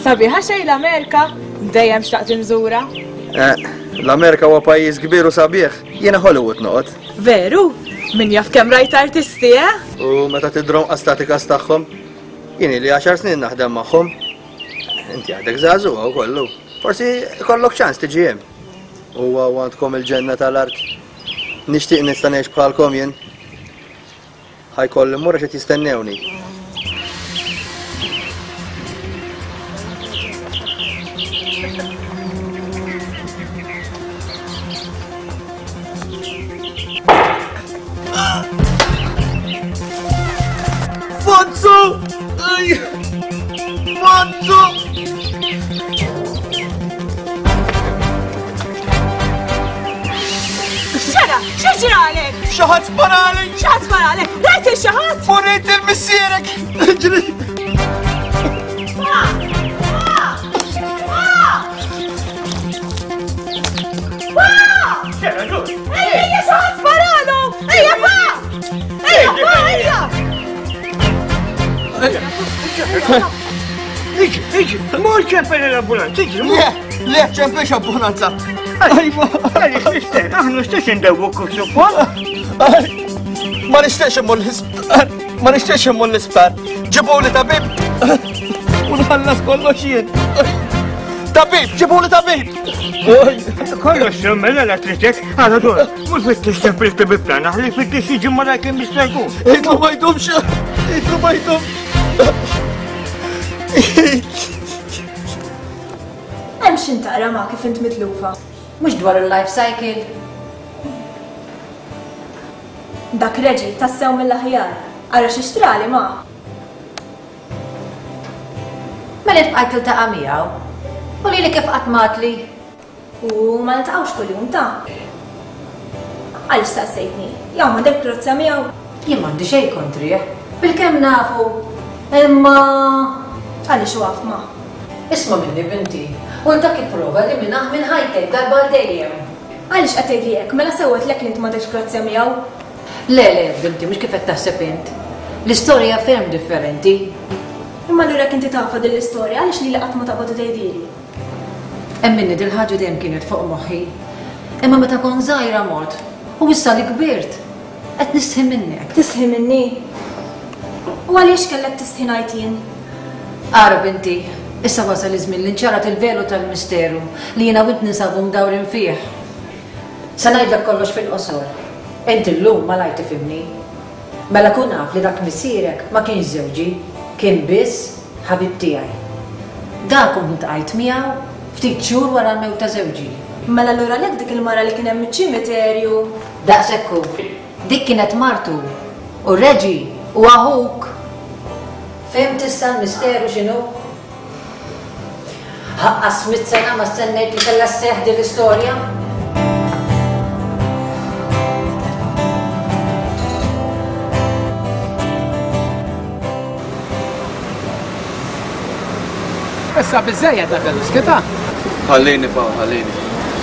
sabiħa xejn l-Amerika, dejjem xtaqt inżura. Eh, l-Amerika huwa pajjiż kbir u sabiħ, jiena Hollywood noqgħod. Veru? Min jaf kemm rajt artisti, eh? U meta tidrom qas tagħhom, jien li għaxar snin naħdem magħhom. Inti għadek żagħżugħa wkollu. Forsi kollok ċans tiġi hemm. Huwa għandkom il-ġenna tal-art. Nixtieq nista' ngħix bħalkom jien. Ħajkolli mmur għax qed jistennewni. Fonzu! Fonzu! Xara, x'ġralek? Xi ħadd sparali! Xi ħadd sparalek? Rajt il xi ħadd? U rejt il-missierek! Ġri! Pa! Pa! Pa! Pa! Xara, ġur! Ejja, ejja, xi ħadd sparalu! Ejja, pa! Ejja, pa, ejja! Iġi, iġi, mur ċempel l-ambulanza, iġi, mur! Le, le, ċempelx ambulanza! Ajma, għaliex nixtieq, aħna stess indewwu kif suppost. Ma nixtieqx immur l-isptar, ma nixtieqx immur l-isptar. Ġibuli tabib u nħallas kollox jien. Tabib, ġibuli tabib! Kollox mela la tritek, għala dur, mhux fittix ċempel tabib tagħna, ħalli fittix jiġi mara kemm jista' jkun. Idlu ma jdumx, idlu ma jdumx. Hemm x'int taqra ma' kif int mitlufa. Mhux dwar il-life cycle. Dak Reġi tassew mill-aħjar. Ara xi xtrali ma. Mela int bqajt tiltaqa' miegħu. U lili kif qatt matli? U ma niltaqgħux kuljum ta'. Għaliex staqsejtni? Jew m'għandek krozza miegħu? Jien m'għandi xejn kontrih. Bilkemm nafu. Imma għaliex waqf ma. Isma' minni binti, u dak ipprova li minah minn ħajtek darba għal dejjem. Għaliex qed tgħidli hekk, mela sewwetlek li int m'għandekx grazzja miegħu? Le, le, binti, mhux kif qed taħseb int. L-istorja ferm differenti. Imma allura jekk inti tafha din l-istorja, għaliex lili qatt ma taqbad u tgħidili? Hemm minni dil-ħaġa dejjem kienet fuq moħħi. Imma meta kont żgħira mort, u issa li kbirt, qed nistħi minnek. Tistħi minni? U għaliex kellek tistħi ngħid jien? Ara binti, issa wasal iż-żmien li nċarat il-velu tal-misteru li jiena u int ninsabu mdawrin fih. Se ngħidlek kollox fil-qosor. Inti llum malajr tifhimni. Mela kun naf li dak missierek ma kienx żewġi, kien biss ħabib tiegħi. Dak kont ntqajt miegħu ftit xhur wara l-mewt ta' żewġi. Mela allura għalhekk dik il-mara li kien hemm iċ-ċimiterju. Daqshekk hu. Dik kienet martu u Reġi u aħuk. Fhimt issa l-misteru x'inhu? Ħaqqas mitt sena ma stennejt li kellha sseħħ din l-istorja. Issa biżejjed dak il-skita. Ħallini pa, ħallini.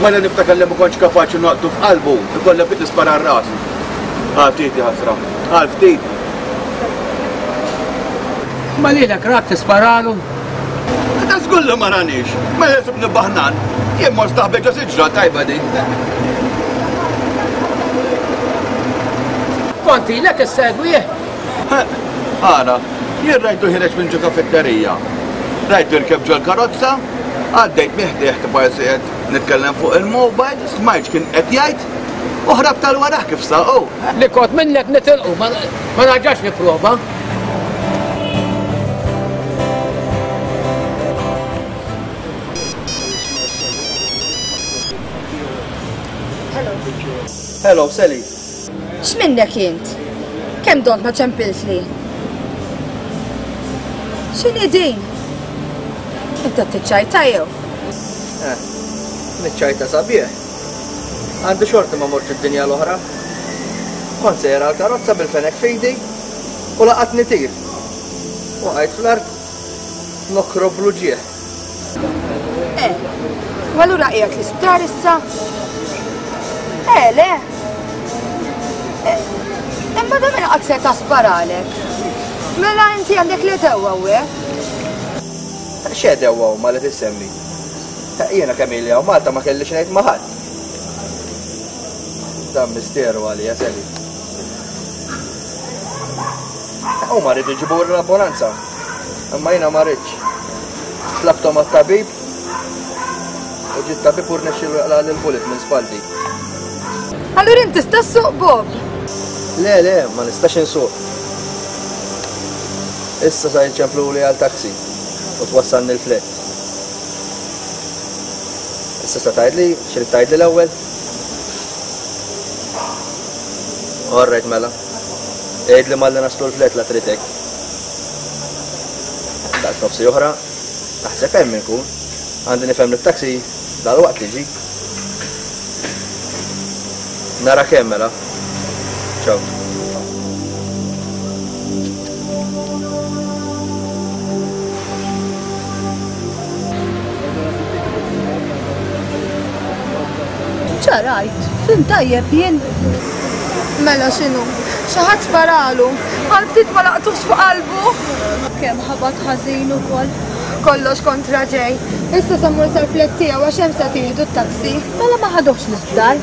Mela niftakar li ma kontx kapaċi noqtu f'qalbu, ikollha bit nispara r-ras. Għal ftit ħasra, għal ftit. Ma lilek rak tisparalu? Ta' żgur li ma ranix, mela sibni baħnan. Jien mort staħbek ġo siġra tajba din. Kont ilek issegwih? Ara, jien rajtu ħireġ minn ġo kafetterija. Rajtu rkeb ġol karozza, għaddejt miħdieħ tibqa' qed nitkellem fuq il-mobile, smajt kien qed jgħid, u ħrab tal-waraħ kif saqgħu. Li kont minnek nitilqu, ma narġax nipprova. Hello, Sally. X'minnek int? Kemm dont ma ċempiltli? X'inhi din? Inta tiċċajta jew? Eh, niċċajta sabiħ. Għandi xorti ma mortx id-dinja l-oħra. Kont sejra l-karozza bil-fenek f'idi u laqatni tir. Waqajt fl-art nokrob l-uġigħ. Eh, u allura qiegħed l-isptar issa? Eh, le. Eh, imma da minn qatt se tasparalek. Mela inti għandek li dewwa hawnhekk. X'għedewwa huma li tissemmi? Jiena kemm ili hawn Malta ma kellix ngħid ma' ħadd. Dan misteru għalija, Sally. Huma rridu jġibu l-ambulanza. Imma jiena ma rridx. Tlabthom għat-tabib u ġie t-tabib u rnexxielu jaqla' l-bullet minn spalti. Allura inti tista' ssuq, Bob? Le, le, ma nistax insuq. Issa sa jċempluli għal taxi u twassalni l-flat. Issa sa tgħidli, x'rid tgħidli l-ewwel? All right, mela. Għidli malli naslu l-flat la trid hekk. Daqs nofsi oħra, naħseb hemm inkun. Għandi nifhem li t-taxi dal-waqt tiġi. Nara kemm mela. Ciao. Ċarajt, fim tajjeb jien. Mela x'inhu? Xi ħadd sparalu. Għal ftit ma laqtux fuq qalbu. Kemm ħabat ħażin ukoll. Kollox kontra ġej. Issa sa mmur sal-flat tiegħu għax hemm se tieħdu t-taxi. Mela ma ħaduhx l-isptar.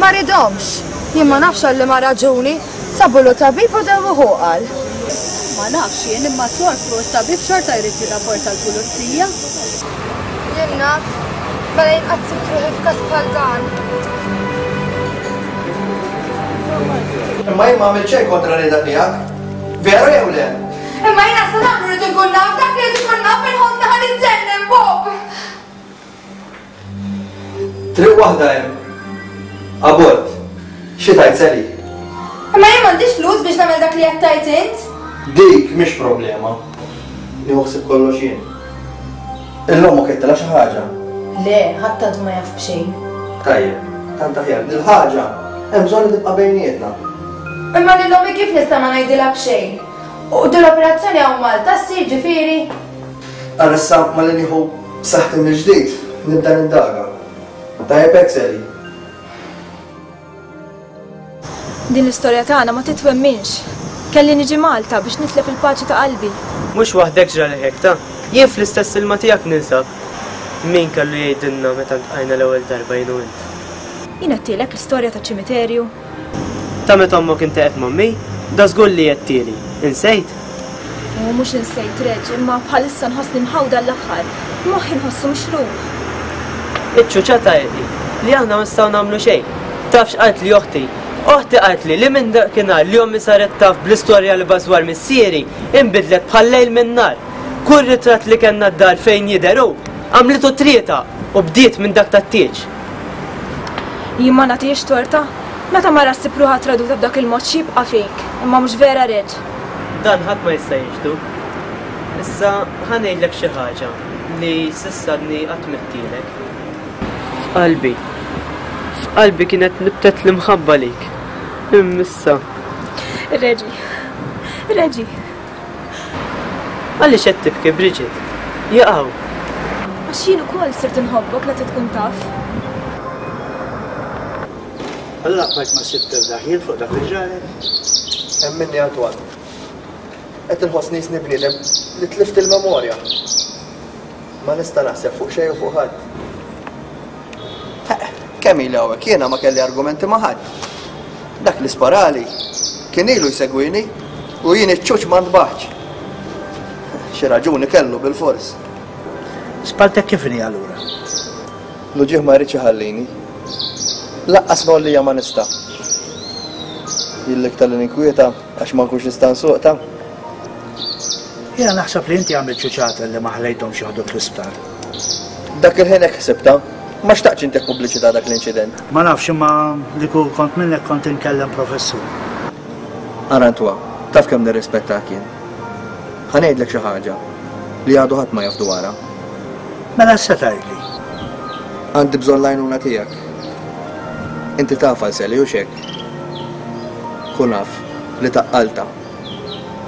Ma ridhomx. Jien ma nafx għal liema raġuni. Sabulu tabib u dewwuh qal. Ma nafx jien imma sortu t-tabib xorta jrid jirrapporta l-pulizija. Jien naf. Mela jien qatt sibt ruħi f'każ bħal dan. Imma jien ma għamilt xejn kontra rida tiegħek. Veru jew le? Imma jiena sa nagħmlu rrid inkun naf dak li rrid inkun naf inħossni ħa niġġennen, Bob. Triq waħda hemm. Abort. Xi tgħid Sally? Imma jien m'għandix flus biex nagħmel dak li qed tgħid int. Dik mhix problema. Nieħu ħsieb kollox jien. Illum ma kittilha xi ħaġa. Le, ħadd għadu ma jaf b'xejn. Tajjeb, tant aħjar dil-ħaġa hemm bżonn li tibqa' bejnietna. Imma lil ommi kif nista' ma ngħidilha b'xejn? U din l-operazzjoni hawn Malta ssir ġifieri? Ara issa malli nieħu saħħti mill-ġdid nibda nindaga. Tajjeb hekk Sally. Din l-istorja tagħna ma titwemminx. Kelli niġi Malta biex nitlef il-paċi ta' qalbi. Mhux waħdek ġrali hekk ta'. Jien fl-istess ilma tiegħek ninsab. Min kellu jgħidilna meta ntqajna l-ewwel darba jien u int? Jien għedtilek l-istorja taċ-ċimiterju. Ta' meta ommok inteqgħet m'ommi, da żgur li għedtieli. Insejt? U mhux insejt Reġ, imma bħalissa nħossni mħawda l-aħħar. Moħħi nħossu mixrub. Iċ-ċuċata hi li aħna ma nistgħu nagħmlu xejn. Taf x'qalt li oħti? Oħti qalt li li minn dakinhar li ommi saret taf bl-istorja li bażwar missieri inbidlet bħal lejl minn nar. Kull ritratt li kellna d-dar fejn jidher hu, għamlitu trieta u bdiet minn dak tat-tieġ. Jien ma nagħtihiex torta. Meta mara ssib ruħha traduta b'dak il-mod x'jibqa' fik, imma mhux vera Reġ. Dan ħadd ma jista' jiġdu. Issa ħa ngħidlek xi ħaġa li s'issa għadni qatt m'għedtilek. F'qalbi. F'qalbi kienet nibtet l-imħabba lik. Imma issa. Reġi. Reġi. Għaliex qed tibki, Bridget? Jaqgħu. Għax jien ukoll sirt inħobbok la tkun taf. Allura bqajt ma sibt ebda ħin fuq dak li ġralek? Hemm minni Antoine. Qed inħossni jisni bniedem li tlift il-memorja. Ma nista' naħseb fuq xejn u fuq ħadd. Kemm ili hawnhekk jiena ma kelli argumenti ma' ħadd. Dak li sparali kien ilu jsegwini u jien iċ-ċuċ ma ntbaħx. Xi raġuni kellu bil-fors. Spaltek kif inhi allura? L-uġigħ ma jridx iħallini. Laqqas nollija ma nista'. Jien l-iktar li ninkwieta għax ma nkunx nista' nsuq ta'. Jiena naħseb li inti għamilt ċuċata li ma ħlejthomx joħduk l-isptar. Dak il-ħin hekk ħsibta. Ma xtaqtx intih pubbliċità dak l-inċident. Ma nafx imma li kieku kont minnek kont inkellem professur. Ara Antoine, taf kemm nirrispettak jien. Ħa ngħidlek xi ħaġa li għadu ħadd ma jaf dwarha. Mela se tgħidli. Għandi bżonn l-għajnuna tiegħek. Inti taf għal Sally hux hekk? Kun af li taqqalta.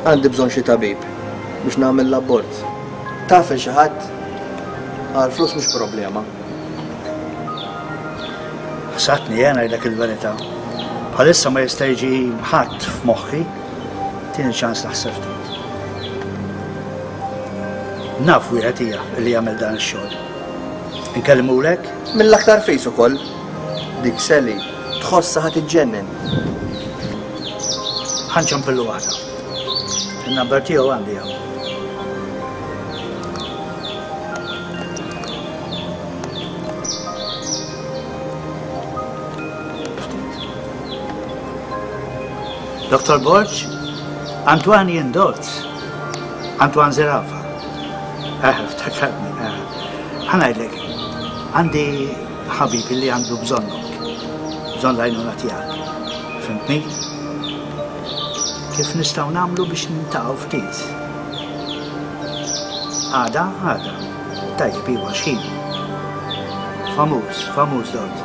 Għandi bżonn xi tabib biex nagħmel l-abort. Taf il xi ħadd? Għal flus mhux problema. Ħsatni jien ngħidlek il-verità. Bħalissa ma jista' jiġi ħadd f'moħħi, tieni ċans naħseb ftit. Naf wieħed hija li jagħmel dan ix-xogħol. Inkellmulek? Mill-aktar fis ukoll. Dik Sally tħossha ħa tiġġennen. Ħa nċempillu waħda. Il-number tiegħu għandi hawn. Doktor Borg, Antoine jien Dott, Antoine Zerafa. Eh, ftakarni, eh. Ħa ngħidlek, għandi ħabib li għandu bżonnok, bżonn l-għajnuna tiegħek. Fhimtni? Kif nistgħu nagħmlu biex niltaqgħu ftit? Għada, għada. Tajjeb, iva, x'ħin? Famuż, famuż Dott.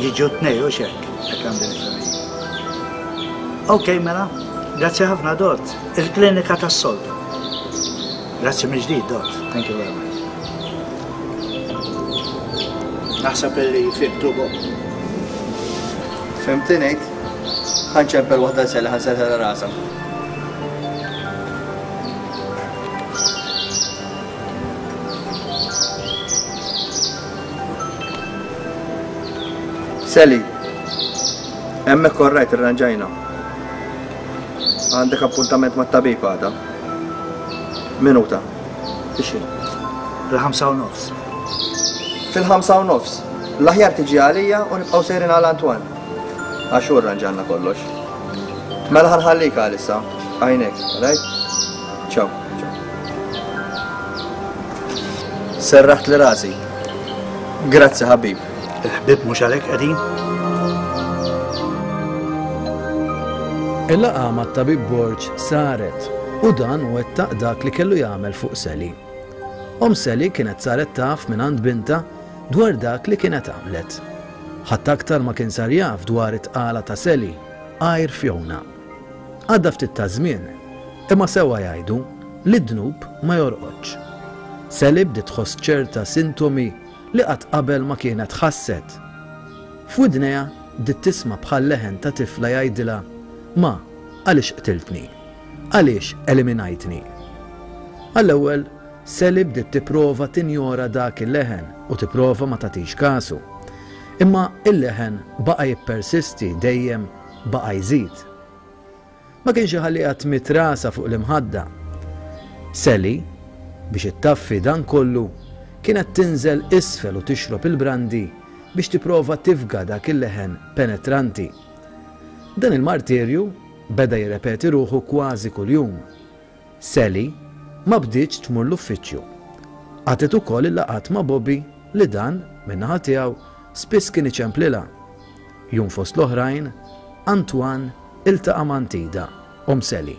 Jiġu tnej u xek, hekk għandi nifhem. Ok, mela, grazzi ħafna Dott. Il-klinika tas-soltu. Grazzi mill-ġdid, Dott. Thank you very much. Naħseb illi fhimtu Bob. Fhimti ngħid? Ħa nċempel waħda Sally ħa nserrħilha rasha. Sally, hemmhekk orrajt irranġajna. Għandek appuntament mat-tabib għada. Minuta. Ixi. Fil-ħamsa u nofs. Fil-ħamsa u nofs. L-aħjar tiġi għalija u nibqgħu sejrin għal Antoine. Għax hu rranġalna kollox. Mela ħa nħallik għalissa. Għajnek, right? Ciao. Serraħt li rasi. Grazzi ħabib. Il-ħbib mhux għalhekk qegħdin? Il-laqgħa mat-tabib Borg saret u dan wettaq dak li kellu jagħmel fuq Sally. Om Sally kienet saret taf minn għand binta dwar dak li kienet għamlet. Ħadd aktar ma kien sar jaf dwar it-tqala ta' Sally għajr Fiona. Għadda ftit ta' żmien, imma sewwa jgħidu li d-dnub ma jorqodx. Sally bdiet tħoss ċerta sintomi li qatt qabel ma kienet ħasset. F'widnejha bdiet tisma' bħal leħen ta' tifla jgħidilha ma għaliex qtiltni? Għaliex eliminajtni? Għall-ewwel, Sally bdiet tipprova tinjora dak il-leħen u tipprova ma tagħtix kasu. Imma il-leħen baqa' jippersisti dejjem baqa' jżid. Ma kienx iħalliha tmidd rasha fuq l-imħadda. Sally, biex ittaffi dan kollu, kienet tinżel isfel u tixrob il-brandi biex tipprova tifga dak il-leħen penetranti. Dan il-martirju beda jirrepeti ruħu kważi kuljum. Sally ma bdietx tmur l-uffiċċju. Qatgħet ukoll il-laqgħat ma' Bobby li dan, min-naħa tiegħu, spiss kien iċemplilha. Jum fost l-oħrajn, Antoine iltaqa' ma' Antida, om Sally,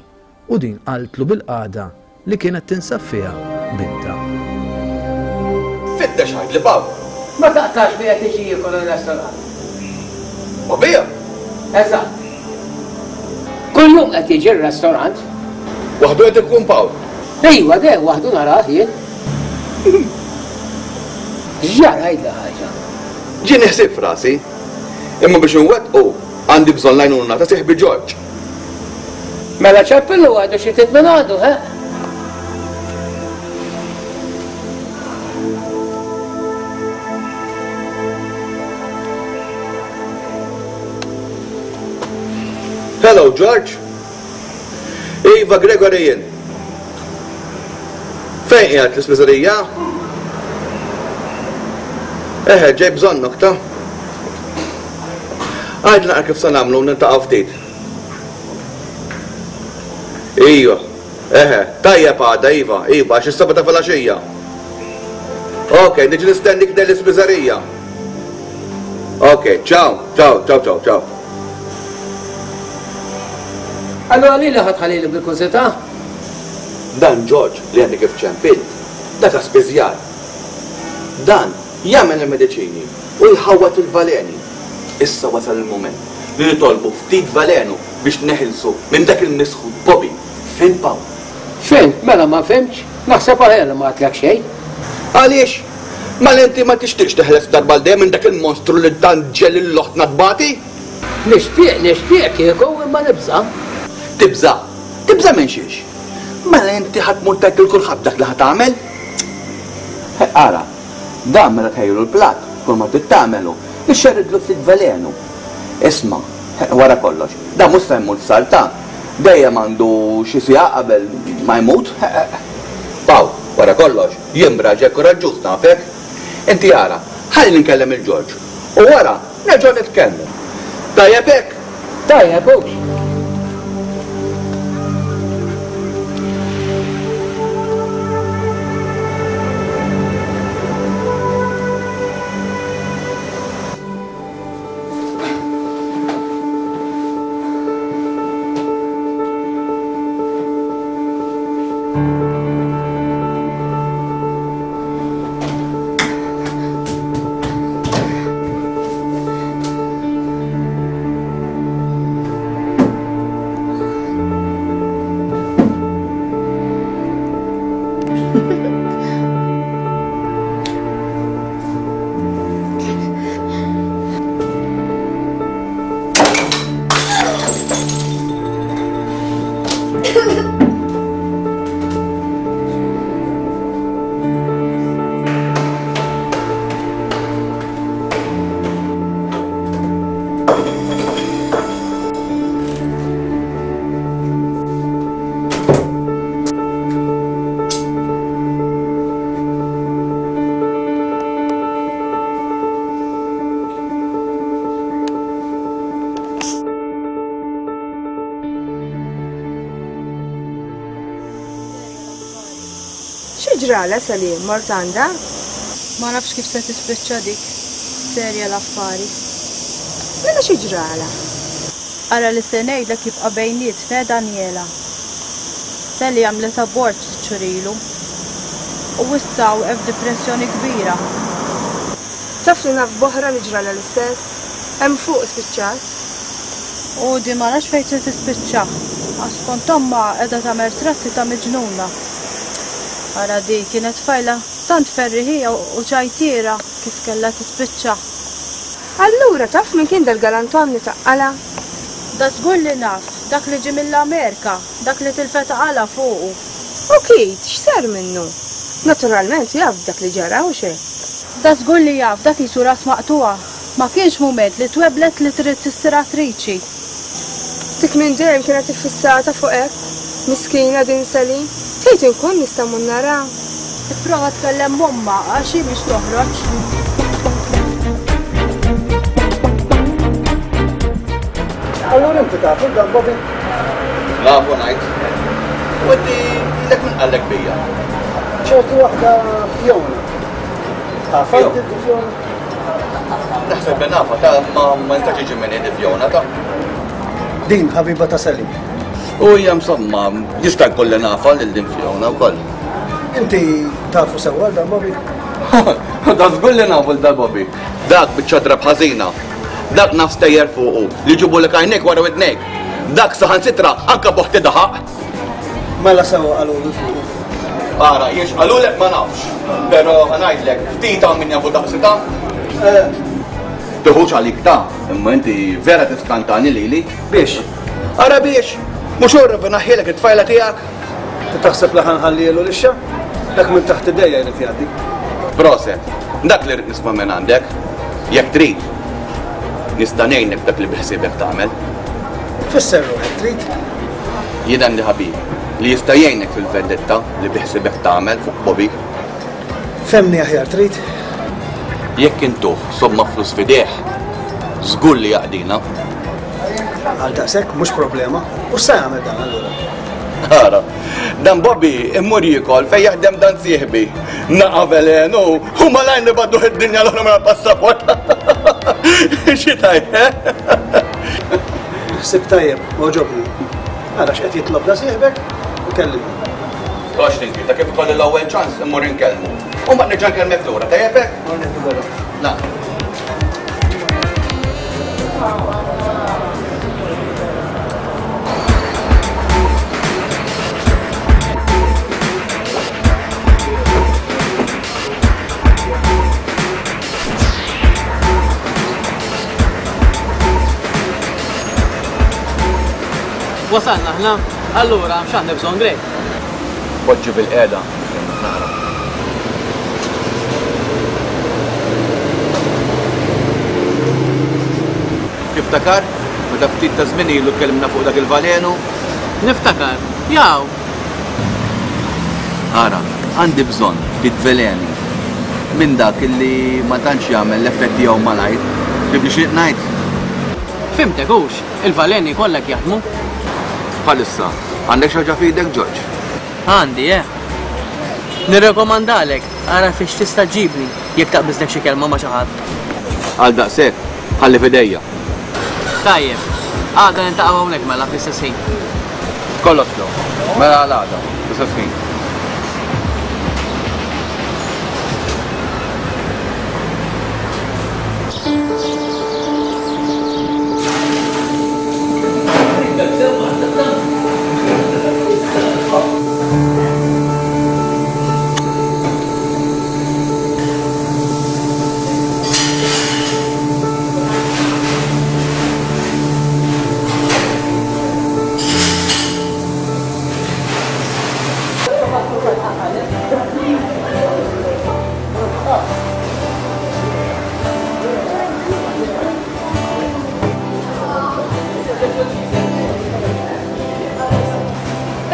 u din qaltlu bil-qagħda li kienet tinsab fiha binta. Fittex ħajd li baw. Ma taqtax li qed iġi jiekol ir-restorant. Bobija? Eżatt. Kuljum qed jiġi r-restorant. Waħdu qed ikun Pawl? Ejwa, de, waħdu narah jien. Ġara għidla ħaġa. Ġieni ħsieb f'rasi. Imma biex nwettqu għandi bżonn l-għajnuna ta' sieħbi George. Mela ċempillu għadu xi trid minn għandu, he? Hello, George. Iva, Gregory jien. Fejn qiegħed l-ispiżerija? Eħe, ġej bżonnok ta'. Għidli naqra kif se nagħmlu niltaqgħu ftit. Iva, eħe, tajjeb għada, Iva, Iva, għax is-seba ta' filgħaxija. Ok, niġi nistennik dell-ispiżerija. Ok, ciao, ciao, ciao, ciao, ciao. Allora lili ħa tħallili bil-kurżità? Dan George li għandi kif ċempilt, dak spiżjar. Dan jagħmel il-mediċini u jħawwat il-valeni. Issa wasal il-mument li nitolbu ftit valenu biex neħilsu minn dak il-misħut Bobby. Fin Pawl? Fin, mela ma fimx, naħseb aħjar li ma għadlek xejn. Għaliex? Mela inti ma tixtieqx teħles darba għal dejjem minn dak il-monstru li tant ġel il-loħtna tbati? Nixtieq, nixtieq kieku imma nibża'. Tibża'? Tibża' minn xiex? Mela inti ħa tmur tgħid lil kulħadd dak li ħa tagħmel? Ara, dan mela tħejjulu l-platt, kull ma trid tagħmelu, ixxerridlu ftit velenu. Isma', wara kollox, dan mhux se jmut salta, dejjem għandu xi siegħa qabel ma jmut. Paw, wara kollox, jien raġel kuraġġuż nafek. Inti ara, ħalli nkellem il-Ġorġ u wara nerġgħu nitkellmu. Tajjeb hekk? Tajjeb hux. Ġrala Sally, mort għandha? Ma nafx kif se tispiċċa dik. Serja l-affari. Mela xi ġrala? Ara li se ngħidlek jibqa' bejnietna Daniela. Sally għamlet abort ftit xhur ilu. U issa waqef f'depressjoni kbira. Taf li naf b'oħra li ġrala l-istess? Hemm fuq spiċċat. U di ma nafx fejn se tispiċċa. Għax skont ommha qiegħda tagħmel tratti ta' miġnuna. Ara di kienet tfajla tant ferriħija u ċajtiera kif kellha tispiċċa. Allura taf min kien dal-galantom li taqqala? Da żgur li naf, dak li ġie mill-Amerika, dak li tilfet għala fuqu. U Kit, x'sar minnu? Naturalment jaf dak li ġara u xejn. Da żgur li jaf, dak qisu ras maqtuha. Ma kienx mument li tweblet li trid tissir attriċi. Dik minn dejjem kienet iffissata fuq hekk. Miskina din Sally. Tgħid inkun nista' mmur nara. Ipprova tkellem m'ommha għax hi mhix toħroġ. Allura inti tafu dan Bobby? Nafu ngħid. U inti ilek min qallek bija? Ċertu waħda Fiona. Taf inti Fiona? Naħseb li nafa ta' ma ma nistax jiġi minn id Fiona ta'. Din ħabiba ta' Sally. U hija insomma, jista' jkun li nafa lil din Fiona wkoll. Inti tafu sewwa dan Bobby? Da żgur li nafu l dal Bobby. Dak biċċa drab ħażina. Dak naf stejjer fuqu li ġibulek għajnejk wara widnejk. Dak saħansitra anke boħti daħaq. Mela sewwa qalulu fuqu. Ara, jiex qalulek ma nafx. Però ħa ngħidlek, ftit hawn min jafu daqsita. Tiħux għalik ta', imma inti vera tiskantani lili. Biex? Ara biex! Mhux hu rrivinaħħielek it-tfajla tiegħek? Taħseb li ħanħallielu lixxa? Dak minn taħt idejja jrid jgħaddi. Proset, dak li rrid nisma' minn għandek. Jekk trid, nista' ngħinek dak li biħsiebek tagħmel. Fisser ruħek trid? Jien għandi ħabib li jista' jgħinek fil-vendetta li biħsiebek tagħmel fuq Bobby. Femni aħjar trid? Jekk intuh somma flus f'idejh, żgur li jaqdina. Għal daqshekk mhux problema. U x'se jagħmel dan allura? Ara, Dan Bobby immur jiekol fejn jaħdem dan sieħbi. Naqa' velenu u malajr nibgħadduh id-dinja l-oħra mara passaport. Xi tajt, eh? Ħsieb tajjeb, għoġobni. Ara x'qed jitlob da sieħbek u kellimni. Tox tinki, ta' kif ikolli l-ewwel ċans immur inkellmu. U mbagħad nerġa' nkellmek lura, tajjeb hekk? La. Wasalna aħna, allura x'għandna bżonn Greg? Poġġi bil-qiegħda, nara. Tiftakar meta ftit ta' żmien ilu tkellimna fuq dak il-valenu? Niftakar, jaw. Ara, għandi bżonn ftit veleni minn dak illi ma tantx jagħmel l-effett tiegħu malajr. Tibni xi ngħid? Fimtek hux, il-valeni kollha jaħdmu. Bħalissa, għandek xi ħaġa f'idek, Ġorġ? Għandi, eh. Nirrekomandalek, ara fiex tista' ġibni jekk taqbiżlek xi kelma ma' xi ħadd. Għal daqshekk, ħalli f'idejja. Tajjeb, għada niltaqgħu hawnhekk mela fl-istess ħin. Kollox flow. Mela għal għada, fl-istess ħin.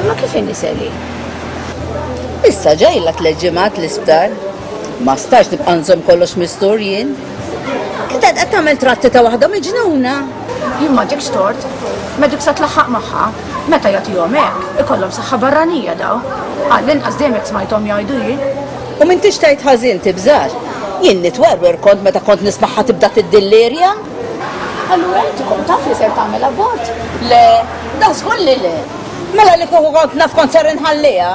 Imma kif inhi Sally? Issa ġejla tliet ġimgħat l-isptar. Ma stax nibqa' nżomm kollox mistur jien. Kif qed tagħmel tratti ta' waħda miġnuna? Jien m'għandekx tort. Ma dik sa tlaħħaq magħha. Meta jagħtihom hekk, ikollhom saħħa barranija daw. Għall-inqas dejjem hekk smajthom jgħidu jien. U m'intix tgħid ħażin tibżax. Jien nitwerwer kont meta kont nismagħha tibda tiddillirja. Allura inti kont taf li ser tagħmel abort? Le, da żgur li le. Mela li kieku kont naf kont ser inħalliha.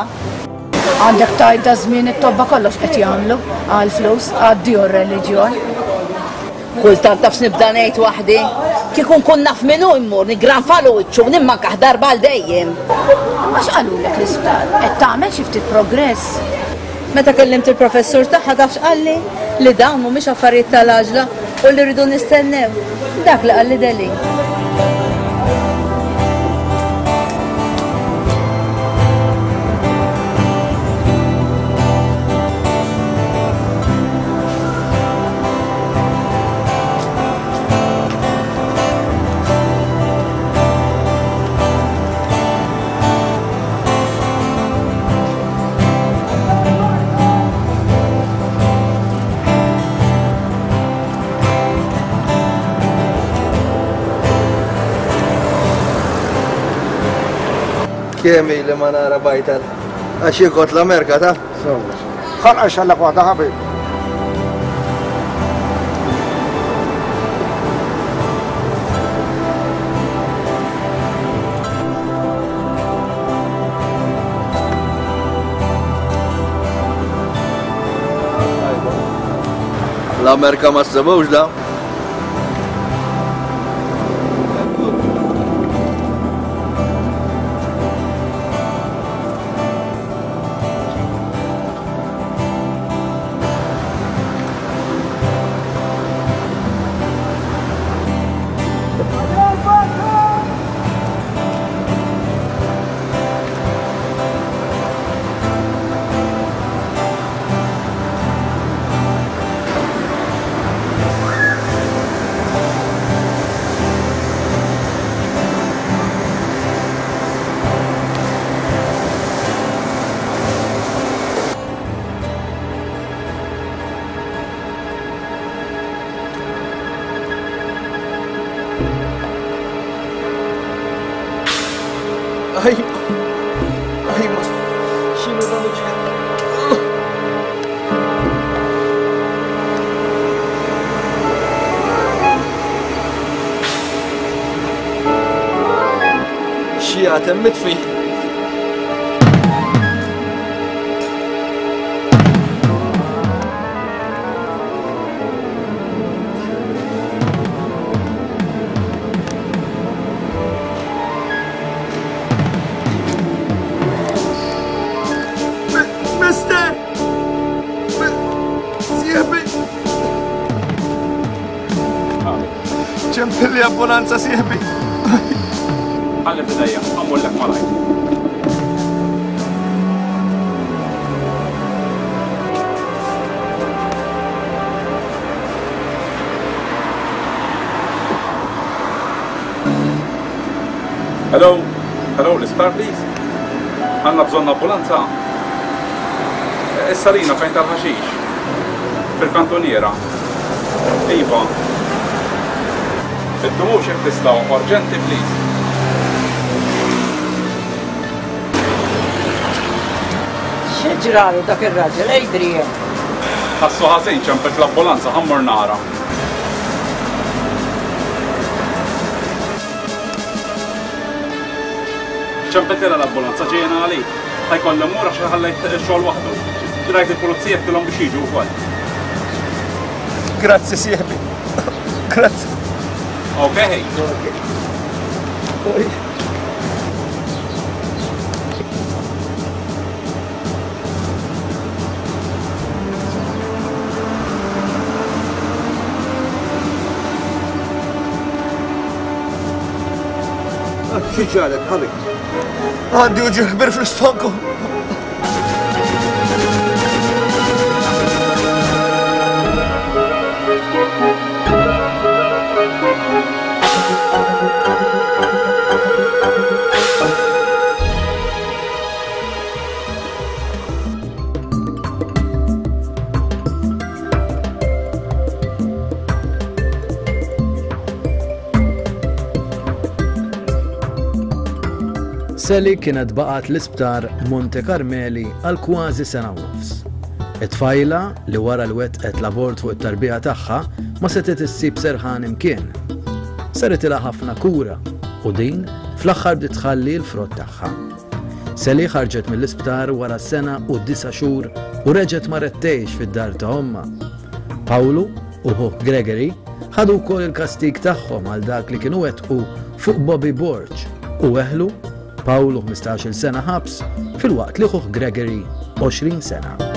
Għandek tgħid da żmien it-tobba kollox qed jagħmlu għal flus, għaddi r-reliġjon. Kultant taf x'nibda ngħid waħdi. Kieku nkun naf min hu mmur niggranfalu wiċċu u nimmankah darba għal dejjem. Imma x'qalulek l-isptar? Qed tagħmel xi ftit progress? Meta kellimt il-professur tagħha taf x'qalli? Li dawn mhumiex affarijiet tal-għaġla u li rridu nistennew. Dak li qalli Deli. Kemm ili ma nara bajtar. Għax jien kont l-Amerika ta'? Ħalqa xallak waħda ħabib. L-Amerika ma ssibux da. xi ħadd hemm mitfi. Mister! Sieħbi! Ċempilli ambulanza sieħbi. Ħalli f'idejja, għamullek malajr. Hello, hello, l-isptar please. Għandna bżonn ambulanza. Is-salina fejn tal-ħaxix. Fil-kantoniera. Iva. Iddumux jekk tistgħu, urġenti please. Xi ġralu dak ir-raġel, Adrian? Ħassu ħażin ċempet l-ambulanza ħa mmur nara. Ċempetilha l-ambulanza ġejna għalik. Ħa jkolli mmur għax ħallejt ix-xogħol waħdu. Rajt il-pulizija għedtilhom biex jiġu wkoll. Grazzi sieħbi. Grazzi. Okay. Xi ġarek, ħabib? Għandi uġigħ kbir fl-istonku. Sally kienet baqgħet l-isptar Monte Carmeli għal kważi sena u nofs. It-tfajla li wara li wettqet l-abort fuq it-tarbija tagħha ma setgħet issib serħan imkien. Saritilha ħafna kura u din fl-aħħar bdiet tħalli l-frott tagħha. Sally ħarġet mill-isptar wara sena u disa' xhur u reġgħet marret tgħix fid-dar ta' ommha. Pawlu u ħuh Gregory ħadu wkoll il-kastig tagħhom għal dak li kienu wettqu fuq Bobby Borg u weħlu Pawlu ħmistax-il sena ħabs filwaqt li ħuh Gregory għoxrin sena.